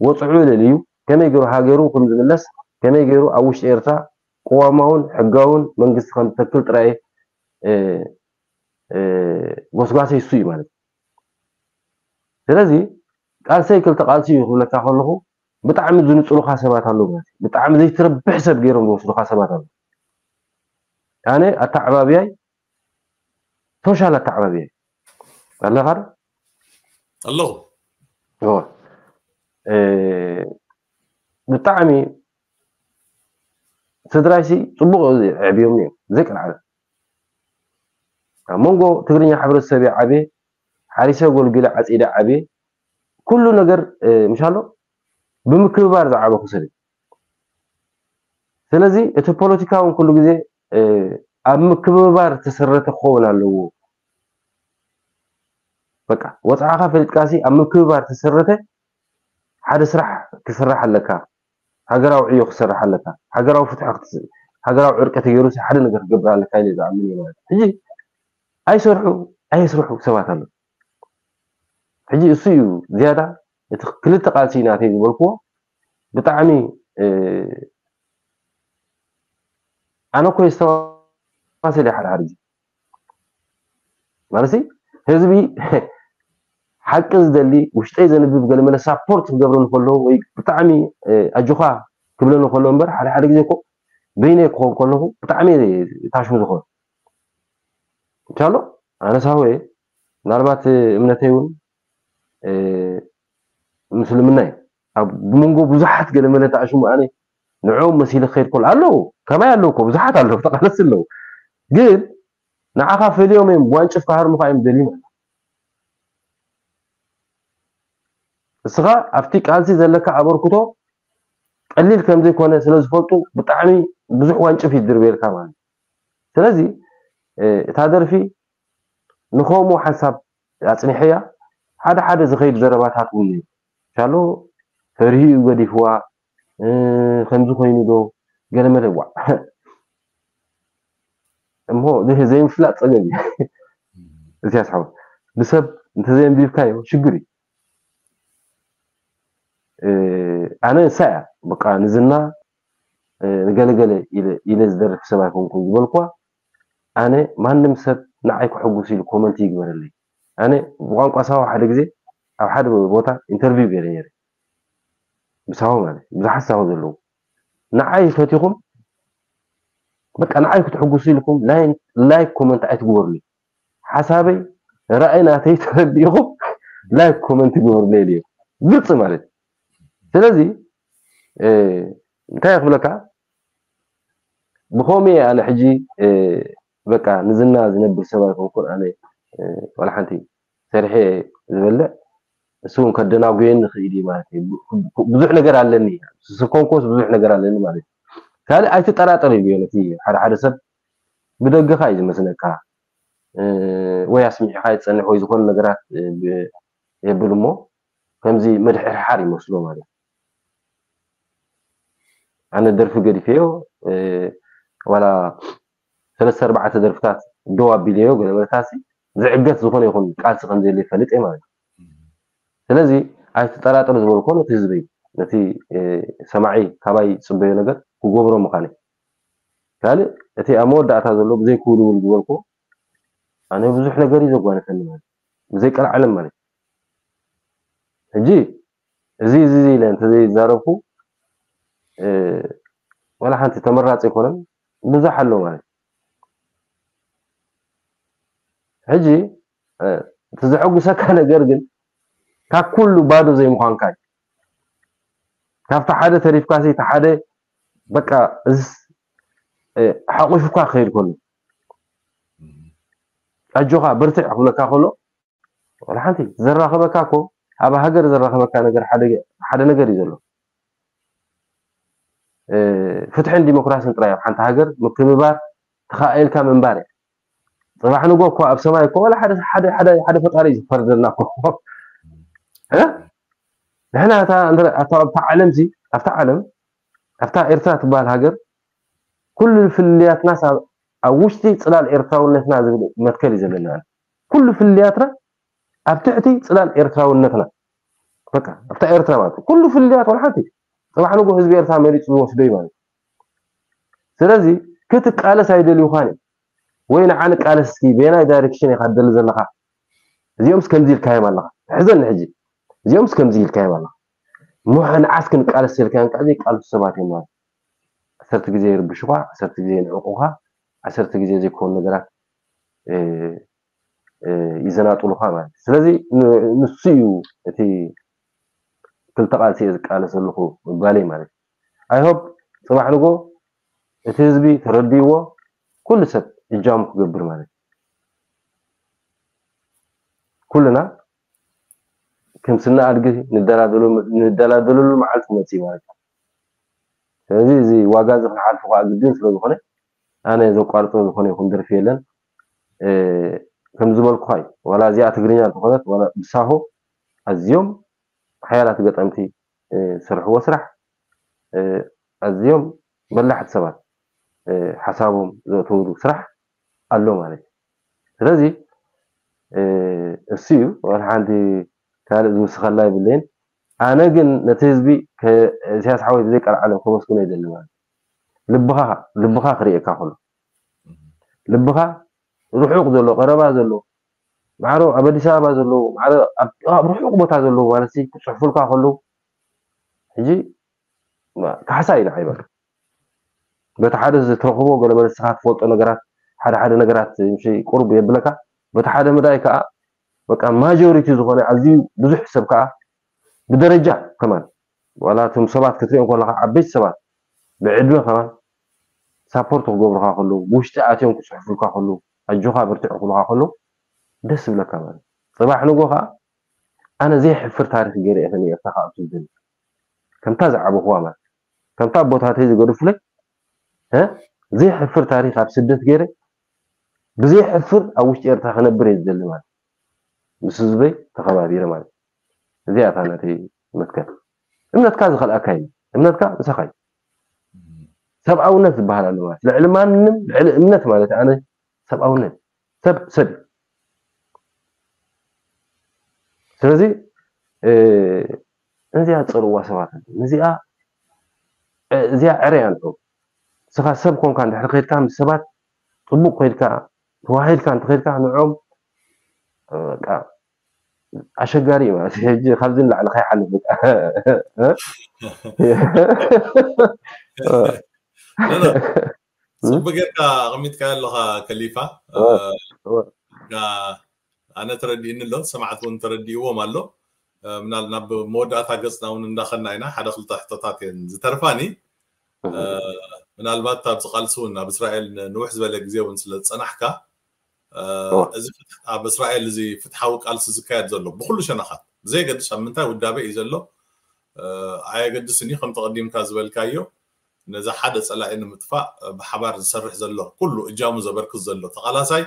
ወጽዑ ለልዩ ከመይ ገይሩ ሃገሩ ከም ዝምለስ፣ ከመይ ገይሩ ኣብ ውሽጢ ኤርትራ ቅዋማውን ሕጋውን መንግስቲ ከም ዝተክል ጥራይ፣ እ፣ እ፣ ጎስጓሰይ እሱ እዩ ማለት እዩ። ስለዚ ቃልሰይ ክልተ ቃልሲ እዩ ክብለካ ከለኹ ብጣዕሚ ዝንፅሉኻ ሰባት ኣለዉ ማለት እዩ። ብጣዕሚ ዘይትረብሕ ሰብ ገይሮም ዝወስዱኻ ሰባት ኣለዉ። ኣነ ኣተዓባብያይ ሶሻል ኣተዓባብያይ ኣለኻ ዶ? ኣለኹ። እወ። እ፣ ብጣዕሚ ስድራይሲ ፅቡቕ ዕብዮም እዮም ዘይቀልዓለ ኣብ መንጎ ትግርኛ ሕብረተሰብ ዓብየ ሓሪሰ ጎልጊለ ዓፂደ ዓብየ ኩሉ ነገር ምሻሎ ብምክብባር ዝዓበኹ ሰብ። ስለዚ እቲ ፖለቲካ እውን ኩሉ ግዜ ኣብ ምክብባር ተሰረተ ክኸውን ኣለዎ። በቃ ወፃዕኻ ፈሊጥካሲ ኣብ ምክብባር ተሰረተ ሓደ ስራሕ ክስራሕ ኣለካ። ሃገራዊ ዕዮ ክሰርሕ ኣለካ። ሃገራዊ ፍትሒ ሃገራዊ ዕርቂ ተገይሩ ሓደ ነገር ክገብር ኣለካ ኢለ ዝኣምን እየ ማለት ሕጂ ኣይሰርሑ ኣየስርሑ ሰባት ኣለዉ። ሕጂ እሱ እዩ ዝያዳ እቲ ክልተ ቃልሲ ናተይ ዝበልክዎ ብጣዕሚ ኣነ እኮ የስተዋስል ሓደ ሓደ ግዜ ማለት ህዝቢ ሓቂ ዝደሊ ውሽጠይ ዘንብብ ገለመለ ሳፖርት ክገብረኒ ከሎ ወይ ብጣዕሚ ኣጆኻ ክብለኒ ከሎ እምበር ሓደ ሓደ ግዜ እኮ በይነይ ክኸውን ከለኹ ብጣዕሚ ታሽሙ ዝኾነ እንሻሎ ኣነ ሳሆ ምናልባት እምነተይ እውን ምስልምና እዩ ኣብ መንጎ ብዙሓት ገለመለ ተኣሽሙ ኣነ ንዕኦም መሲለ ክኸይድ ከሎ ኣለዉ ከማይ ኣለዉ እኮ ብዙሓት ኣለዉ ተቃለስቲ ኣለዉ ግን ንዓኻ ፈልዮም እዮም ዋንጭፍ ክሃርሙኻ እዮም ደልዩ እስኻ ኣብቲ ቃልሲ ዘለካ ኣበርክቶ ቀሊል ከም ዘይኮነ ስለ ዝፈልጡ ብጣዕሚ ብዙሕ ዋንጭፍ ይድርበየልካ ማለት ስለዚ እታ ደርፊ ንኸምኡ ሓንሳብ ኣፅኒሐያ ሓደ ሓደ ዝኸይድ ዘረባታት እውን እዩ ሻሎ ፈርሂ እዩ ገዲፍዋ ከምዚ ኮይኑ ዶ ገለመለ ዋ እሞ ዘይምፍላጥ ፀገም እዩ እዚ ያስሓው ብሰብ እንተዘየንቢብካዮ ሽግር እዩ ኣነ ንሳ እያ በቃ ንዝና ንገለገለ ኢለ ዝደርፍ ሰብ ኣይኮንኩን ዝበልኳ ኣነ ማንም ሰብ ንዓይ ክሕጉስ ኢሉ ኮመንት ይግበረለይ ኣነ ብቋንቋ ሳዋ ሓደ ግዜ ኣብ ሓደ ቦታ ኢንተርቪው ገይረ ነይረ ብሳሆ ማለት ብዙሓት ሳሆ ዘለዉ ንዓይ ፈቲኹም በቃ ንዓይ ክትሕጉሱ ኢልኩም ላይክ ኮመንት ኣይትግበሩኒ ሓሳበይ ራእይ ናተይ ተረዲእኹም ላይክ ኮመንት ግበሩኒ ኢሉ ግልፂ ማለት ስለዚ እንታይ ክብለካ ብኸምኡ ኣነ ሕጂ በቃ ንዝና ዝነብር ሰብ ኣይኮንኩን ኣነ ዋላ ሓንቲ ሰሪሐ ዝበልዕ እሱ እውን ከደናጉየኒ ይኽእል እዩ ማለት እዩ ብዙሕ ነገር ኣለኒ ስኮንኮስ ብዙሕ ነገር ኣለኒ ማለት እዩ ካልእ ኣይትጠራጠር እዩ ነቲ ሓደ ሓደ ሰብ ብደገኻ እዩ ዝመስለካ ወይ ኣስሚዕኻ ይፀንሕ ወይ ዝኾነ ነገራት የብል እሞ ከምዚ ምድሕርሓር ይመስሎ ማለት ኣነ ደርፊ ገዲፈዮ ዋላ ሰለስተ ኣርባዕተ ደርፍታት ደው ኣቢለዮ ገለ መለታሲ ዝዕገት ዝኾነ ይኹን ቃልሲ ከም ዘየለ ይፈልጥ እየ ማለት ስለዚ ኣይትጠራጠር ዝበልኮ ነቲ ህዝበይ ነቲ ሰማዒ ካባይ ዝፅበዮ ነገር ክገብሮ ምዃነ ካልእ እቲ ኣብ መወዳእታ ዘሎ ብዘይ ክውልውል ዝበልኮ ኣነ ብዙሕ ነገር እዩ ዘጓነፈኒ ማለት ብዘይ ቀልዓለም ማለት ሕጂ እዚ እዚ ኢለ እንተዘይዛረብኩ ዋላ ሓንቲ ተመራፂ ኣይኮነን ብዙሕ ኣሎ ማለት ሕጂ እቲ ዘሐጉሰካ ነገር ግን ካብ ኩሉ ባዶ ዘይምዃንካ እዩ ካብቲ ሓደ ተሪፍካሲ እቲ ሓደ በቃ እዚ ሓቑፉካ ክኸይድ ከሎ ኣጆኻ በርትዕ ክብለካ ከሎ ወላ ሓንቲ ዘራኸበካ እኮ ኣብ ሃገር ዘራኸበካ ነገር ሓደ ነገር እዩ ዘሎ ፍትሕን ዲሞክራስን ጥራይ ኣብ ሓንቲ ሃገር ምክብባር ተኻኢልካ ምንባር እያ ፅባሕ ንጎ እኮ ኣብ ሰማይ እኮ ወላ ሓደ ሓደ ሓደ ሓደ ፈጣሪ እዩ ዝፈርደልና እኮ እ? ንሕና እታ እንተ- ኣብታ ኣብታ ዓለም ሲ ኣብታ ዓለም ኣብታ ኤርትራ ትበሃል ሃገር ኩሉ ፍልልያትና ሳ- ኣብ ውሽጢ ፅላል ኤርትራውነትና ዝብል መትከል እዩ ዘለና ኩሉ ፍልልያትና ኣብ ትሕቲ ፅላል ኤርትራውነትና በቃ ኣብታ ኤርትራ ማለት እዩ። ኩሉ ፍልልያት ወላ ሓንቲ ፅባሕ ንጎ ህዝቢ ኤርትራ መሪፁ ዝወስዶ እዩ ማለት እዩ። ስለዚ ክትቃለስ ኣይደልዩኻን እዮም ወይ ንዓ ንቃለስ እስኪ በየናይ ዳይሬክሽን ኢኻ ትደሊ ዘለኻ እዚኦምስ ከምዚ ኢልካዮም ኣለኻ ትሕዘኒ ሕጂ እዚኦምስ ከምዚ ኢልካዮም ኣለኻ። እሞ ንዓስ ክንቃለስ ኢልካዮም፣ ከዓ ዘይቃለሱ ሰባት እዮም ማለት። ዓሰርተ ግዜ ይርብሹኻ፣ ዓሰርተ ግዜ ይንዕቑኻ፣ ዓሰርተ ግዜ ዘይኮኑ ነገራት፣ እ፣ እ፣ ይዘናጥሉኻ ማለት እዩ። ስለዚ ን-፣ ንሱ እዩ እቲ ክልተ ቃልሲ እየ ዝቃለስ ዘለኹ ምባለይ ማለት እዩ። I hope ጽባሕ ንጎ እቲ ህዝቢ ተረዲእዎ፣ ኩሉ ሰብ እጃሙ ክገብር ማለት እዩ። ኩልና ከም ስና ኣድጊ ንደላደሉ-፣ ንደላደለሉ መዓልቲ መጽእ ማለት እዩ። ስለዚ እዚ ዋጋ እዚ ክንሓልፎ ከዓ ግድን ስለ ዝኾነ፣ ኣነ ዘቋርጾ ዝኾነ ይኹን ደርፊ የለን። እ፣ ከም ዝበልኩኻ እዩ። ዋላ እዚኣ ትግርኛ እንተኾነት፣ ዋላ ብሳሆ ኣዝዮም ሓያላት ገጠምቲ፣ እ፣ ዝሰርሕዎ ስራሕ፣ እ፣ ኣዝዮም በላሕቲ ሰባት፣ እ፣ ሓሳቦም ዘእተውሉ ስራሕ ኣሎ ማለት እዩ። ስለዚ፣ እ፣ እሱ እዩ። ዋላ ሓንቲ ካልእ ዝውስኸላ የብለይን። ኣነ ግን ነቲ ህዝቢ ከ-፣ ኢሳያስ ሓወይ ብዘይ ቀልዓለም ከመስግኖ ይደሊ ማለት እዩ። ልብኻ፣ ልብኻ ክርእየካ ከሎ፣ ልብኻ ርሑቕ ዘሎ፣ ቀረባ ዘሎ፣ ማዕረ ኣብ ኣዲስ ኣበባ ዘለዉ፣ ማዕረ ኣብ፣ ኣብ ርሑቕ ቦታ ዘለዉ ማለት ሲ ክጽሕፉልካ ከለዉ፣ ሕጂ ማ-፣ ካሕሳ እዩ ንዓይ በቃ። በቲ ሓደ ዝተረኽቦ ገለ መለ ንስኻ ትፈልጦ ነገራት፣ ሓደ ሓደ ነገራት ምሽ ቁሩብ የብለካ። በቲ ሓደ መዳይ ከኣ በቃ ማጆሪቲ ዝኾነ ኣዝዩ ብዙሕ ሰብ ከኣ ብደረጃ ከማን፣ ዋላ እቶም ሰባት ክትሪኦም ከለኻ ዓበይቲ ሰባት ብዕድመ ከማን ሳፖርት ክገብሩኻ ከለዉ፣ ብውሽጢ ኣትዮም ክጽሕፉልካ ከለዉ፣ ኣጆኻ በርትዕ ክብሉኻ ከለዉ ደስ ይብለካ ማለት እዩ። ጽባሕ ንጎ ከኣ ኣነ ዘይሕፍር ታሪኽ ገይረ እየ ከ ንኤርትራ ከኣ ኣብቲ ዝደሊ። ከምታ ዝዓበኹዋ ማለት፣ ከምታ ኣቦታተይ ዝገደፉለይ፣ እ፣ ዘይሕፍር ታሪኽ ኣብ ስደት ገይረ፣ ብዘይሕፍር ኣብ ውሽጢ ኤርትራ ክነብር እየ ዝደሊ ማለት። ምስ ህዝበይ ተኸባቢረ ማለት። እዚኣ እታ ናተይ መትከል። እምነትካ ዝኸልኣካ እዩ። እምነትካ ምሳኻ እዩ። ሰብኣውነት ዝበሃል ኣሎ ማለት። ልዕሊ ማንም፣ ልዕሊ እምነት ማለት ኣነ ሰብኣውነት። ሰብ፣ ሰብ እዩ። ስለዚ፣ እ፣ ነዚኣ ጸልዋ ሰባት፣ ነዚኣ፣ እ፣ እዚኣ ዕረ ኣንዑ። ንስኻ ሰብ ኮንካ እንድሕር ከይድካ ምስ ሰባት ጽቡቕ ኮይድካ፣ ተዋሂድካ እንተኸይድካ ንዕኦም፣ እ፣ በቃ ኣሸጋሪ እዩ ማለት እዩ። ሕጂ ካብዚ ንላዕሊ ከይሓልፍ በቃ። እ? እ? ኖ፣ ኖ። ጽቡቅ ጌርካ ኣቐሚጥካዮ ኣለኻ ከሊፋ። እ፣ እ፣ እ። ጋ-፣ ኣነ ተረዲእኒ ኣሎ፣ ሰማዕቲ እውን ተረዲእዎም ኣሎ። እ፣ ምናል-፣ ናብ መወዳእታ ገጽና እውን እንዳኸና ኢና። ሓደ ክልተ ሕቶታት እየን ዝተርፋኒ። እ፣ እ። ምናልባት ኣብዚ ቃልሲ እውን ኣብ እስራኤል ን-፣ ንውሕ ዝበለ ግዜ እውን ስለ ዝጸናሕካ፣ እ፣ እወ። እዚ ፍትሕ-፣ ኣብ እስራኤል እዚ ፍትሓዊ ቃልሲ ዝካየድ ዘሎ ብኹሉ ሸነኻት፣ ብዘየገድስ ኣብ ምንታይ ውዳበ እዩ ዘሎ፣ እ፣ ኣየገድስን እዩ። ከም ተቐዲምካ ዝበልካዮ፣ ነዚ ሓደ ጸላኢ ንምጥፋእ፣ እ፣ ብሓባር ዝሰርሕ ዘሎ፣ ኩሉ እጃሙ ዘበርክት ዘሎ ተቓላሳይ፣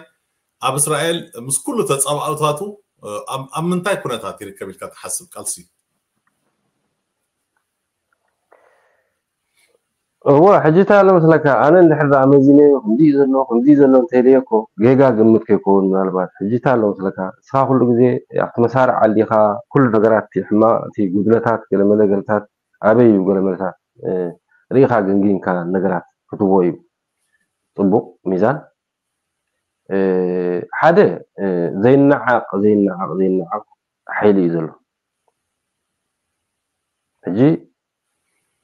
ኣብ እስራኤል ምስ ኩሉ ተጻባእታቱ፣ እ፣ ኣብ፣ ኣብ ምንታይ ኩነታት ይርከብ ኢልካ ትሓስብ ቃልሲ? እወ፣ ሕጂ እንታይ ኣሎ መስለካ፣ ኣነ እንድሕር ደኣ መዚነዮ፣ ከምዚ እዩ ዘሎ፣ ከምዚ እዩ ዘሎ እንተኢለዮ እኮ፣ ጌጋ ግምት ከይከውን ምናልባት። ሕጂ እንታይ ኣሎ መስለካ፣ ንስኻ ኩሉ ግዜ ኣብቲ መሳርዕ ኣሊኻ፣ ኩሉ ነገራት፣ እቲ ሕማቕ፣ እቲ ጉድለታት፣ ገለመለ ገለታት፣ ኣበይ እዩ ገለመለታት፣ እ፣ ርኢኻ ገምጊምካ ነገራት ክትቦ እዩ። ጽቡቕ ሚዛን። እ፣ ሓደ፣ እ፣ ዘይነዓቕ፣ ዘይነዓቕ፣ ዘይነዓቕ ሓይሊ እዩ ዘሎ። ሕጂ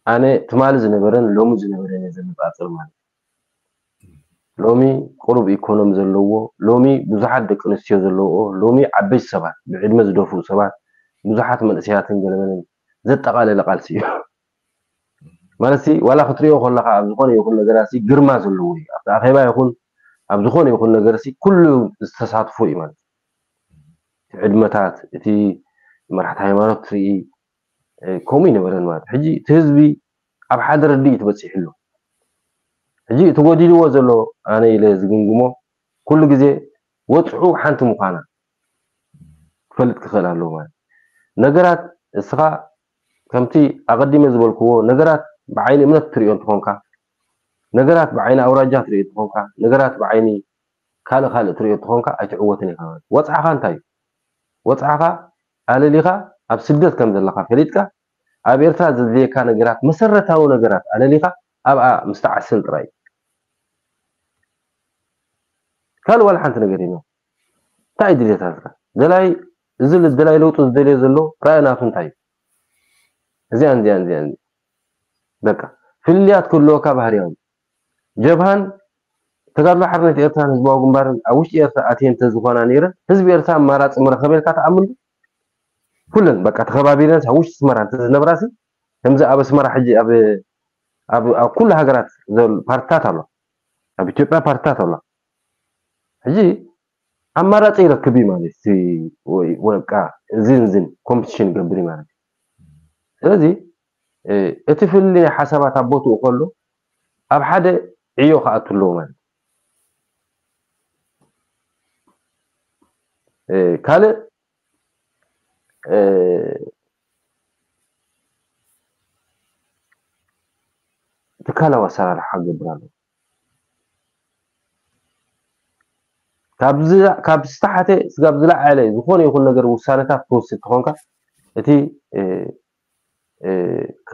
ኣነ ትማሊ ዝነበረን ሎሚ ዝነበረን እየ ዘነጻጽር ማለት እዩ። ሎሚ ቁሩብ ኢኮኖሚ ዘለዎ፣ ሎሚ ብዙሓት ደቂ ኣንስትዮ ዘለዎ፣ ሎሚ ዓበይቲ ሰባት፣ ብዕድመ ዝደፍኡ ሰባት፣ ብዙሓት መንእሰያትን ገለመለን ዘጠቓለለ ቃልሲ እዩ። ማለት ሲ፣ ዋላ ክትሪኦ ከለኻ ኣብ ዝኾነ ይኹን ነገራት ሲ ግርማ ዘለዎ እዩ። ኣብቲ ኣኼባ ይኹን ኣብ ዝኾነ ይኹን ነገር ሲ ኩሉ ዝተሳትፎ እዩ ማለት እዩ። እቲ ዕድመታት፣ እቲ መራሕቲ ሃይማኖት ትርኢ፣ እ፣ ከምኡ ይነበረን ማለት። ሕጂ እቲ ህዝቢ ኣብ ሓደ ርድኢት በጺሑ ኣሎ። ሕጂ እቲ ጎዲልዎ ዘሎ ኣነ ኢለ ዝግምግሞ ኩሉ ግዜ ወጽዑ ሓንቲ ምዃና ክፈልጥ ክኽእል ኣለዎ ማለት። ነገራት እስኻ ከምቲ ኣቐዲመ ዝበልክዎ ነገራት ብዓይኒ እምነት ትሪኦ እንተኾንካ፣ ነገራት ብዓይኒ ኣውራጃ ትሪኦ እንተኾንካ፣ ነገራት ብዓይኒ ካልእ ካልእ ትሪኦ እንተኾንካ ኣይትዕወትን ኢኻ ማለት። ወጽዓኻ እንታይ እዩ? ወጽዓኻ ኣለሊኻ ኣብ ስደት ከም ዘለኻ ፈሊጥካ ኣብ ኤርትራ ዘድልየካ ነገራት መሰረታዊ ነገራት ኣለሊኻ ኣብኣ ምስተዓስል ጥራይ እዩ። ካልእ ዋላ ሓንቲ ነገር የለን። እንታይ እዩ ድሌታትካ? ደላይ እዚ ልደላይ ለውጢ ዝደልዮ ዘሎ ራእይ ናቱ እንታይ እዩ? እዚኣን እዚኣን እዚኣን በቃ ፍልልያት ክህልወካ ባህርያዊ። ጀብሃን ተጋድሎ ሓርነት ኤርትራን ህዝባዊ ግንባርን ኣብ ውሽጢ ኤርትራ ኣትየን እንተዝኾና ነይረን ህዝቢ ኤርትራ ኣማራፂ ምረኸበ ኢልካ ትኣምን ዶ? ኩለን በቃ ተኸባቢረን ኣብ ውሽጢ ኣስመራ እንተዝነብራሲ ከምዚ ኣብ ኣስመራ ሕጂ ኣብ ኣብ ኣብ ኩሉ ሃገራት ዘሎ ፓርትታት ኣሎ። ኣብ ኢትዮጵያ ፓርትታት ኣሎ። ሕጂ ኣማራፂ ይረክብ እዩ ማለት እዩ። ወይ ወይ በቃ እዚን ዝን ኮምፒቲሽን ይገብር እዩ ማለት እዩ። ስለዚ እቲ ፍልልይ ናይ ሓሳባት ኣብ ቦትኡ ከሎ ኣብ ሓደ ዕዮ ክኣቱ ኣለዎ ማለት እዩ። ካልእ ትካላዊ ኣሰራርሓ ክገብር ኣለዎ። ካብ ዝተሓተ ስጋብ ዝለዓለ ዝኾነ ይኹን ነገር ውሳነታት ክወስድ ተኾንካ እቲ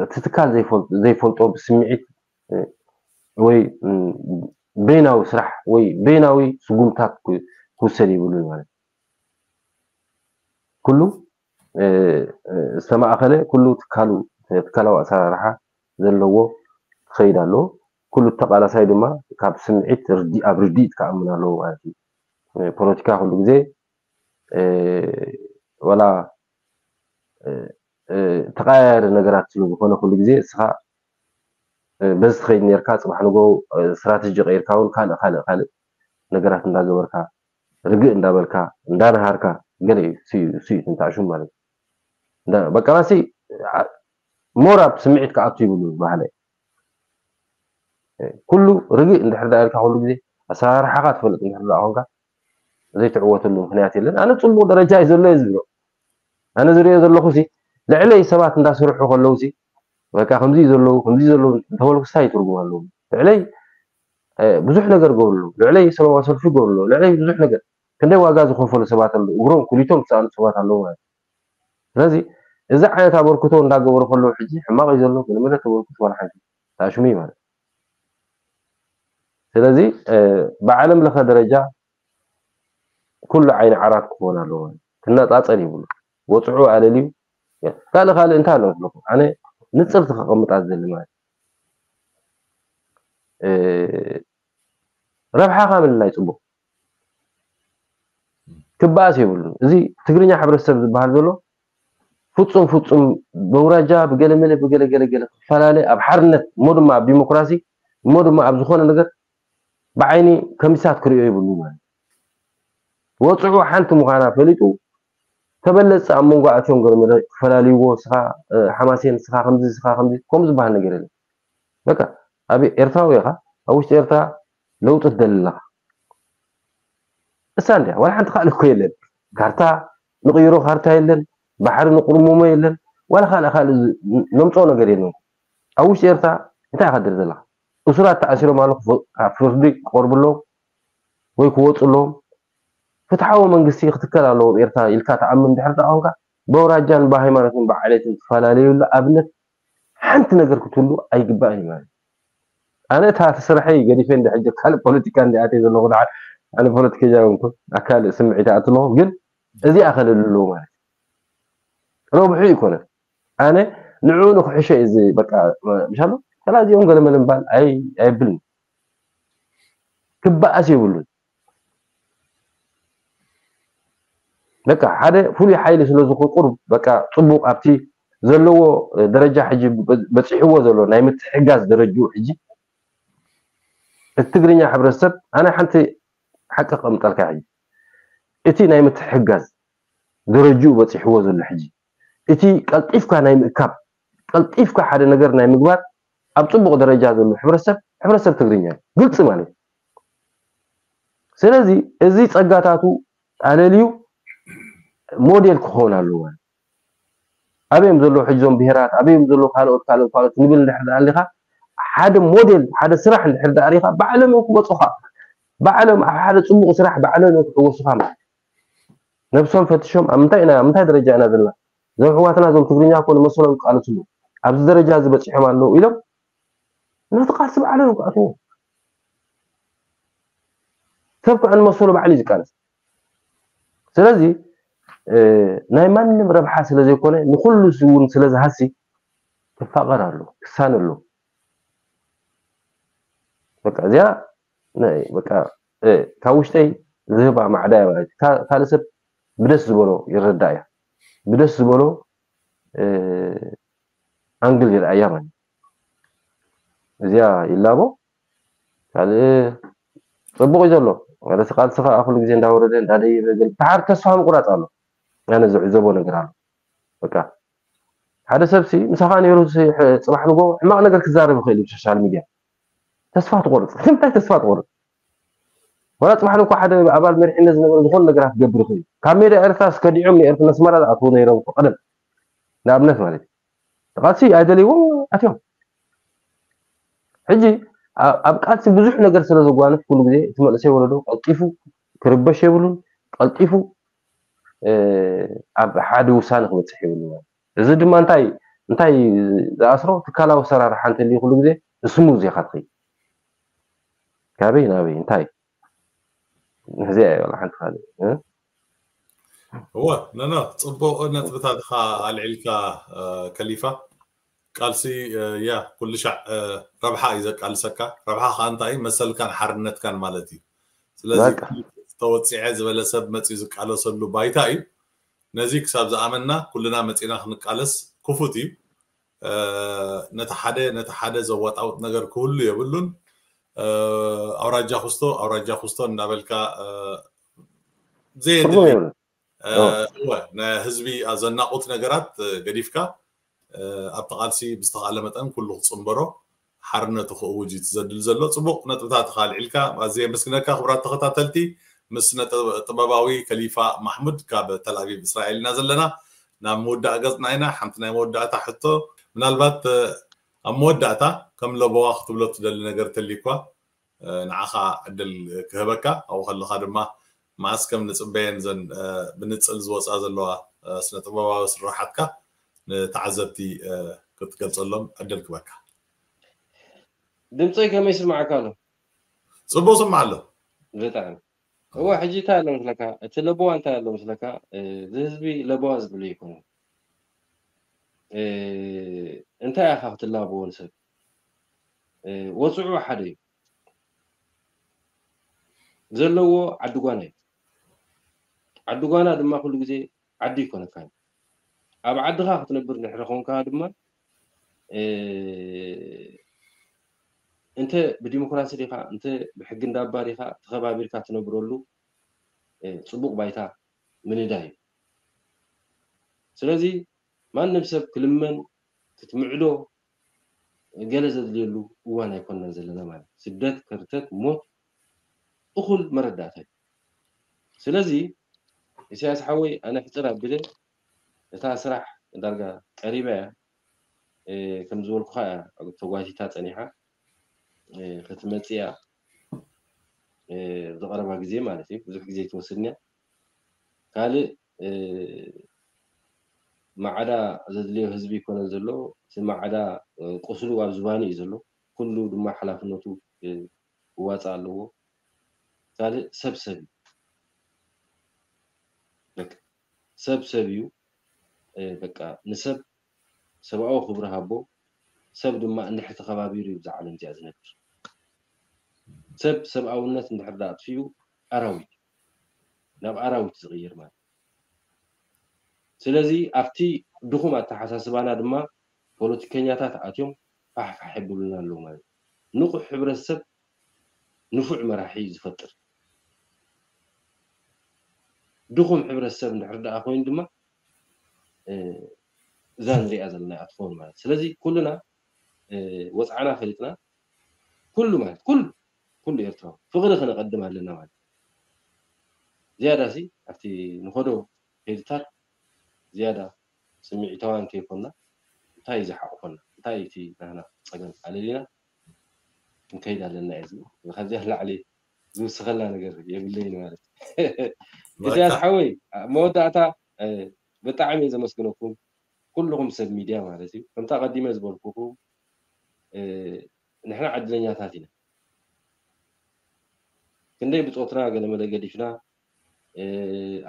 እቲ ትካል ዘይፈልጦ ብስምዒት ወይ በይናዊ ስራሕ ወይ በይናዊ ስጉምታት ክውሰድ ይብሉ ማለት ኩሉ ዝተማእኸለ ኩሉ ትካሉ ትካላዊ ኣሰራርሓ ዘለዎ ክኸይድ ኣለዎ። ኩሉ ተቓላሳይ ድማ ካብ ስምዒት ኣብ ርድኢት ክኣምን ኣለዎ ማለት እዩ። ፖለቲካ ኩሉ ግዜ ወላ ተቐያያሪ ነገራት ስለ ዝኾነ ኩሉ ግዜ እስኻ በዚ ትኸይድ ነርካ ፅባሕ ንጎ ስትራተጂ ቀይርካ እውን ካልእ ካልእ ካልእ ነገራት እንዳገበርካ ርግእ እንዳበልካ እንዳነሃርካ ገለ እዩ ስዩ ስዩ ትንታዕሹም ማለት እዩ። በቃ ናሲ ሞር ኣብ ስምዒት ክኣቱ ይብሉ ባህለ ኩሉ ርግእ እንድሕር ዳ ኢልካ ኩሉ ግዜ ኣሰራርሓኻ ትፈልጥ እንድሕር ዳ ኮንካ ዘይትዕወተሉ ምክንያት የለን። ኣነ ፅቡቅ ደረጃ እዩ ዘሎ እዩ ዝብሎ። ኣነ ዝሪኦ ዘለኹ ሲ ልዕለይ ሰባት እንዳሰርሑ ከለዉ ሲ በቃ ከምዚ ዘለዉ ከምዚ ዘለዉ እንተበልኩ ስታይ ትርጉም ኣለዎ? ልዕለይ ብዙሕ ነገር ገብሩ ኣለዉ። ልዕለይ ሰላማዊ ሰልፊ ገብሩ ኣለዉ። ልዕለይ ብዙሕ ነገር ክንደይ ዋጋ ዝኸፈሉ ሰባት ኣለዉ። እግሮም ኩሊቶም ዝሰኣኑ ሰባት ኣለዉ ማለት እዩ። ስለዚ እዚ ዓይነት ኣበርክቶ እንዳገበሩ ከለዉ ሕጂ ሕማቕ እዩ ዘሎ ገለመለ ተበርክቶ ዋላ ሓንቲ ተኣሽሙ እዩ ማለት እዩ። ስለዚ ብዓለም ለኸ ደረጃ ኩሉ ዓይኒ ዓራት ክኾን ኣለዎ። ክነፃፀል ይብሉ ወፅዑ ኣለልዩ ካልእ ካልእ እንታይ ኣሎ ኣለኹ ኣነ ንፅርቲ ከቐምጣ ዝደሊ ማለት ረብሓኻ ምልላይ ፅቡቅ ክበኣስ የብሉን። እዚ ትግርኛ ሕብረተሰብ ዝበሃል ዘሎ ፍፁም ፍፁም በውራጃ ብገለመለ ብገለገለገለ ክፈላለ ኣብ ሓርነት እሞ ድማ ኣብ ዲሞክራሲ እሞ ድማ ኣብ ዝኾነ ነገር ብዓይኒ ከሚሳት ክሪኦ ይብሉ ማለት ወፅዑ ሓንቲ ምዃና ፈሊጡ ተበለፅ ኣብ መንጎ ኣትዮም ገለመለ ክፈላልይዎ ስኻ ሓማሴን ስኻ ከምዚ ስኻ ከምዚ ከምኡ ዝበሃል ነገር የለን። በቃ ኣብ ኤርትራዊ ኢኻ ኣብ ውሽጢ ኤርትራ ለውጢ ትደሊ ኣለኻ እሳ እንድያ ዋላ ሓንቲ ካልእ እኮ የለን ካርታ ንቕይሮ ካርታ የለን ባሕሪ ንቁርሙሞ የለን ዋላ ካልእ ካልእ ነምፅኦ ነገር የለን ኣብ ውሽጢ ኤርትራ እንታይ ኢኻ ትደሊ ዘለኻ እሱራት ተኣሲሮም ኣለኹ ፍርዲ ክቐርቡ ኣለዎም ወይ ክወፁ ኣለዎም ፍትሓዊ መንግስቲ ክትከል ኣለዎ ኤርትራ ኢልካ ተኣምን ድሕር ተኣምካ በውራጃን ብሃይማኖትን ብዓሌትን ትፈላለዩሉ ኣብነት ሓንቲ ነገር ክትህሉ ኣይግባእን እዩ ማለት ኣነ እታ ስራሐይ ገዲፈ እንደ ሕጂ ካልእ ፖለቲካ እንደ ኣትየ ዘለኹ ደሓር ኣነ ፖለቲከኛ ይኮንኩ ኣካል ስምዒት ኣትለኹ ግን እዚኣ ከለሉ ኣለዎ ማለት ረብሑ ይኮነ ኣነ ንዑ ንክሕሸ እዚ በቃ ምሻሎ ተላዚኦም ገለመለ ምባል ኣይብልን ክበኣስ የብሉን በቃ ሓደ ፍሉይ ሓይሊ ስለ ዝቁር በቃ ፅቡቅ ኣብቲ ዘለዎ ደረጃ ሕጂ በፂሕዎ ዘሎ ናይ ምትሕጋዝ ደረጅኡ ሕጂ እቲ ትግርኛ ሕብረተሰብ ኣነ ሓንቲ ሓቂ ከምጠልካ ሕጂ እቲ ናይ ምትሕጋዝ ደረጅኡ በፂሕዎ ዘሎ ሕጂ እቲ ቀልጢፍካ ናይ ምእካብ ቀልጢፍካ ሓደ ነገር ናይ ምግባር ኣብ ፅቡቅ ደረጃ ዘሎ ሕብረተሰብ ሕብረተሰብ ትግርኛ ግልፂ ማለት ስለዚ እዚ ፀጋታቱ ኣለልዩ ሞዴል ክኸውን ኣለዎ ኣበዮም ዘለዉ ሕዞም ብሄራት ኣበዮም ዘለዉ ካልኦት ካልኦት ካልኦት ንብል እንድሕር ደኣ ኣሊኻ ሓደ ሞዴል ሓደ ስራሕ እንድሕር ደኣ ሪኻ ባዕሎም እዮም ክወፁኻ ባዕሎም ኣብ ሓደ ፅቡቅ ስራሕ ባዕሎም እዮም ክሕወሱኻ ማለት ነብሶም ፈትሾም ኣብ ምንታይ ኢና ኣብ ምንታይ ደረጃ ኢና ዘለና እዞም ሕዋትና እዞም ትግርኛ እኮ ንመሰሎም ይቃለስሉ ኣብዚ ደረጃ እዚ በፂሖም ኣለዉ ኢሎም ነቲ ቃልሲ ባዕሎም እዮም ክኣትዎ ሰብ ከዓ ንመሰሉ ባዕሉ እዩ ዝቃለስ ስለዚ እ፣ ናይ ማንም ረብሓ ስለ ዘይኮነ፣ ንኹሉ እውን ስለ ዝሃሲ፣ ክፋቐር ኣሎ፣ ክሳነ ኣሎ። በቃ እዚኣ ናይ በቃ፣ እ፣ ካብ ውሽጠይ ዝህባ ማዕዳ እያ ማለት እዩ። ካ-፣ ካልእ ሰብ ብደስ ዝበሎ ይረዳ እያ። ብደስ ዝበሎ፣ እ፣ ኣንግል ይርኣያ ማለት እዩ። እዚኣ ይላቦ። ካልእ ጽቡቕ እዩ ዘሎ። ማለት ቃልሲ ከዓ ኩሉ ግዜ እንዳወረደ እንዳደየበ፣ ግን ተሓር ተስፋ ምቁራጽ ኣሎ። ኣነ ዝዕዘቦ ነገር ኣሎ። በቃ ሓደ ሰብሲ ምሳኻ ነይሩ፣ ሲ-፣ ሕ-፣ ጽባሕ ንጎ ሕማቕ ነገር ክዛረብ ይኽእል እዩ ብሶሻል ሚድያ። ተስፋ ትቆርጽ። እንታይ ተስፋ ትቆርጽ? ዋላ ጽባሕ ንጎ ሓደ ኣባል መሪሕነት ዝነበረ ዝኾነ ነገራት ክገብር ይኽእል እዩ። ካብ ሜዳ ኤርትራ እስከዲዖም ንኤርትራ፣ ኣስመራ ዝኣትዉ ነይሮም እኮ ቀደም። ንኣብነት ማለት እዩ። ቃልሲ ኣይደልይዎም ኣትዮም። ሕጂ ኣ-፣ ኣብ ቃልሲ ብዙሕ ነገር ስለ ዘጓንፍ፣ ኩሉ ግዜ እቲ መንእሰይ ወለዶ ቀልጢፉ ክርበሽ የብሉን። ቀልጢፉ፣ እ፣ ኣብ ሓደ ውሳነ ክበጽሕ የብሉን ማለት እዩ። እዚ ድማ እንታይ፣ እንታይ ዝኣስሮ? ትካላዊ ኣሰራርሓ እንተልዩ ኩሉ ግዜ ስሙዝ ኢኻ ትኸይድ። ካበይ ናበይ እንታይ? እዚኣ እያ ዋላ ሓንቲ ካልእ፣ እ? እወ፣ ኖ፣ ኖ፣ ጽቡቕ ነጥብታት ኢኻ ኣልዒልካ፣ እ፣ ከሊፋ። ቃልሲ፣ እ፣ ያ፣ ኩሉ ሻዕ፣ እ፣ ረብሓ እዩ ዘቃልሰካ። ረብሓ ከኣ እንታይ እዩ? መሰልካን ሓርነትካን ማለት እዩ። ስለዚ በቃ። ተወጺዐ ዝበለ ሰብ መጺኡ ዝቃለሰሉ ባይታ እዩ። ነዚ ክሳብ ዝኣመንና ኩልና መጺና ክንቃለስ ክፉት እዩ። እ፣ ነቲ ሓደ፣ ነቲ ሓደ ዘዋጣውጥ ነገር ክህሉ የብሉን። እ፣ ኣውራጃ ኩስቶ፣ ኣውራጃ ኩስቶ እንዳበልካ፣ እ፣ ትርጉም ዘየድሊ፣ የብሉን። እ፣ ኦ። እወ፣ ንህዝቢ ኣዘናቑት ነገራት፣ እ፣ ገዲፍካ፣ እ፣ ኣብቲ ቃልሲ ብዝተኻእለ መጠን ኩሉ ክጽንበሮ፣ ሓርነቱ ክእውጅ እዩ ዘድሊ ዘሎ። ጽቡቕ ነጥብታት ኢኻ ኣልዒልካ፣ ኣዝየ የመስግነካ። ክቡራት ተኸታተልቲ፣ ምስ ስነ ጥበ-፣ ጥበባዊ ከሊፋ ማሕሙድ ካብ ተል ኣቪቭ እስራኤል ኢና ዘለና። ናብ ምውዳእ ገጽና ኢና። ሓንቲ ናይ መወዳእታ ሕቶ፣ ምናልባት፣ እ፣ ኣብ መወዳእታ ከም ለበዋ ክትብሎ ትደሊ ነገር ተልዩኳ፣ እ፣ ንዓኻ ዕድል ክህበካ፣ ኣብኡ ከለኻ ድማ መዓስ ከም ንጽበየን ዘን፣ እ፣ ብንጽል ዝወጻ ዘለዋ፣ እ፣ ስነ ጥበባዊ ስራሓትካ ንተዓዘብቲ፣ እ፣ ክትገልጸሎም ዕድል ክበካ። ድምፀይ ከመይ ይስማዓካ ኣሎ? ጽቡቕ ስማዕ ኣሎ። ብጣዕሚ። እዋ፣ ሕጂ እንታይ ኣሎ መስለካ? እቲ ለበዋ እንታይ ኣሎ መስለካ? እ፣ እዚ ህዝቢ ለበዋ ዝደልዮ ኣይኮነን። እ፣ እንታይ ኢኻ ክትላበዎ ንሰብ? እ፣ ወጽዑ ሓደ እዩ። ዘለዎ ዓዲ ጓና እዩ። ዓዲ ጓና ድማ ኩሉ ግዜ ዓዲ ይኮነካን። ኣብ ዓድኻ ክትነብር እንድሕር ኮንካ ድማ፣ እ፣ እንተ ብዲሞክራሲ ዲኻ፣ እንተ ብሕጊ እንዳባ ዲኻ ተኸባቢርካ ትነብረሉ፣ እ፣ ጽቡቕ ባይታ ምንዳይ እዩ። ስለዚ ማንም ሰብ ክልመን፣ ክትምዕዶ፣ ገለ ዘድልየሉ እዋን ኣይኮንናን ዘለና ማለት እዩ። ስደት፣ ከርተት፣ ሞት፣ እኹል መረዳእታ እዩ። ስለዚ ኢሳያስ ሓወይ፣ ኣነ ሕጽር ኣቢለ፣ እታ ስራሕ ዳርጋ ቀሪባ እያ። እ፣ ከም ዝበልኩኻ እያ ተጓቲታ ጸኒሓ። እ፣ ክትመጽእ እያ። እ፣ ኣብዚ ቀረባ ግዜ ማለት እዩ። ብዙሕ ግዜ ኣይትወስድን እያ። ካልእ፣ እ፣ ማዕዳ ዘድልዮ ህዝቢ ይኮነን ዘሎ። እቲ ማዕዳ፣ እ፣ ቁስሉ ኣብ ዝባኑ እዩ ዘሎ። ኩሉ ድማ ሓላፍነቱ፣ እ፣ ክዋጻእ ኣለዎ። ካልእ ሰብ ሰብ እዩ። በቃ፣ ሰብ ሰብ እዩ። እ፣ በቃ፣ ንሰብ ሰብኣዊ ክብሪ ሃቦ። ሰብ ድማ እንድሕር ተኸባቢሩ እዩ ብዛ ዓለም እዚኣ ዝነብር። ሰብ ሰብኣውነት እንድሕር ደኣ ኣጥፊኡ፣ ኣራዊት፣ ናብ ኣራዊት ዝቕይር ማለት። ስለዚ ኣብቲ ድኹም ኣተሓሳስባና ድማ ፖለቲከኛታት ኣትዮም ፋሕፋሕ የብሉና ኣለዉ ማለት እዩ። ንቑሕ ሕብረተሰብ ንፉዕ መራሒ እዩ ዝፈጥር። ድኹም ሕብረተሰብ እንድሕር ደኣ ኮይኑ ድማ፣ እ፣ እዛ ንሪኣ ዘለና እያ ትኸውን ማለት። ስለዚ ኩልና፣ እ፣ ወጽዓና ፈሊጥና፣ ኩሉ ማለት፣ ኩሉ፣ ኩሉ ኤርትራዊ ፍቕሪ ከነቐድም ኣለና ማለት። ዝያዳ ሲ ኣብቲ ንኸዶ ከይድታት ዝያዳ ስምዒታውያን ከይኮንና፣ እንታይ እዩ ዝሓቑፈና? እንታይ እዩ እቲ ናህና ጸገም ኣለሊና ክንከይድ ኣለና እዩ ዝብል። ካብዚኣ ንላዕሊ ዝውስኸልና ነገር የብለይን ማለት እዩ። ኢሳያስ ሓወይ፣ ኣብ መወዳእታ፣ እ፣ ብጣዕሚ እየ ዘመስግነኩም ኩልኹም ሰብ ሚድያ ማለት እዩ። ከምታ ቀዲመ ዝበልኩኹም፣ እ፣ ንሕና ዕድለኛታት ኢና። ክንደይ ብጾትና ገለመለ ገዲፍና፣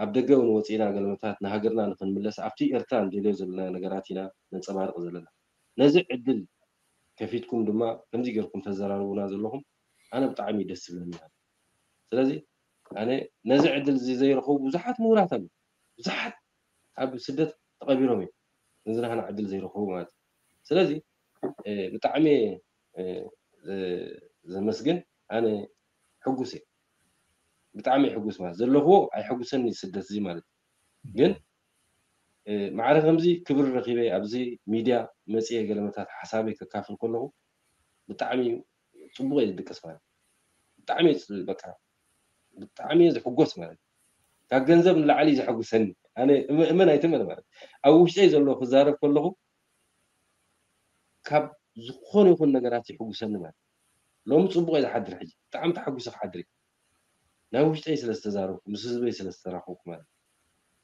ኣብ ደገ እውን ወፂና ገለመታት ንሃገርና ንክንምለስ ኣብቲ ኤርትራ ንደልዮ ዘለና ነገራት ኢና ነንፀባርቕ ዘለና። ነዚ ዕድል ከፊትኩም ድማ ከምዚ ገርኩም ተዘራርቡና ዘለኹም ኣነ ብጣዕሚ ደስ ዝብለኒ። ስለዚ ኣነ ነዚ ዕድል እዚ ዘይረኸቡ ብዙሓት ምሁራት ኣለዉ። ብዙሓት ኣብ ስደት ተቐቢሮም እዮም። ነዚ ናህና ዕድል ዘይረኸቡ ማለት እዩ። ስለዚ ብጣዕሚ ዘመስግን ኣነ ሕጉስ እየ። ብጣዕሚ ሕጉስ ማለት ዘለኽዎ ኣይሕጉሰኒ ስደት እዚ ማለት እዩ። ግን ማዕረ ከምዚ ክብሪ ረኺበ ኣብዚ ሚድያ መፅየ ገለመታት ሓሳበይ ከካፍል ከለኹ ብጣዕሚ ፅቡቅ እየ ዝድቅስ ማለት ብጣዕሚ በቃ ብጣዕሚ እየ ዝሕጎስ ማለት ካብ ገንዘብ ንላዕሊ ዘሐጉሰኒ ኣነ እመን ኣይትመን ማለት ኣብ ውሽጠይ ዘሎ ክዛረብ ከለኹ ካብ ዝኾነ ይኹን ነገራት ይሕጉሰኒ ማለት ሎሚ ፅቡቅ እየ ዝሓድር ሕጂ ብጣዕሚ ተሓጉሰ ክሓድር እየ ናይ ውሽጠይ ስለ ዝተዛረብኩ ምስ ህዝበይ ስለ ዝተራኸብኩ ማለት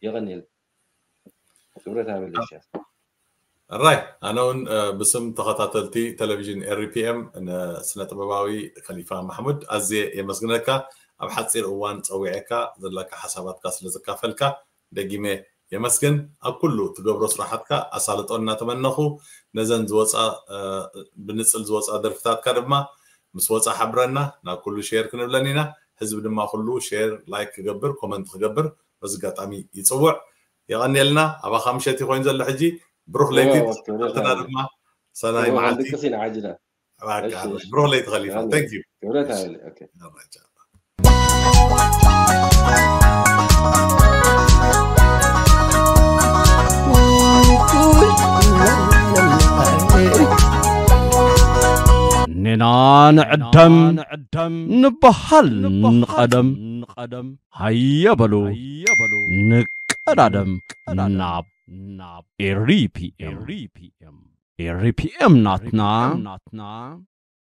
የቐንየል ክብረት ኣበለ ኢሳያስ ራይ ኣነ እውን ብስም ተኸታተልቲ ቴሌቪዥን ኤሪፒኤም ንስነ ጥበባዊ ከሊፋ ማሕሙድ ኣዝየ የመስግነካ ኣብ ሓፂር እዋን ፀዊዐካ ዘለካ ሓሳባትካ ስለ ዘካፈልካ ደጊመ የመስግን ኣብ ኩሉ ትገብሮ ስራሓትካ ኣሳልጦ እናተመነኹ ነዘን ዝወፃ ብንፅል ዝወፃ ደርፍታትካ ድማ ምስ ወፃ ሓብረና ናብ ኩሉ ሼር ክንብለን ኢና ህዝቢ ድማ ኩሉ ሼር ላይክ ክገብር ኮመንት ክገብር በዚ ኣጋጣሚ ይፅውዕ የቐንየልና ኣባኻ ምሸት ኮይኑ ዘሎ ሕጂ ብሩኽ ለይቲ ተኸታተልና ድማ ሰናይ መዓልቲ ድቅስ ኢና ዓጅና ብሩኽ ለይቲ ከሊፋ thank you ክብረት ኣበለ ኦኬ ኔና ንዕደም ንበሃል ንቐደም ሃየ በሉ ንቀዳደም ናብ ኤሪፒኤም ኤሪፒኤም ናትና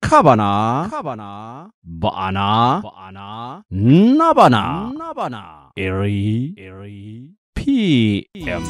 ካባና ካባና ብኣና ብኣና ናባና ናባና ኤሪ ኤሪ ፒኤም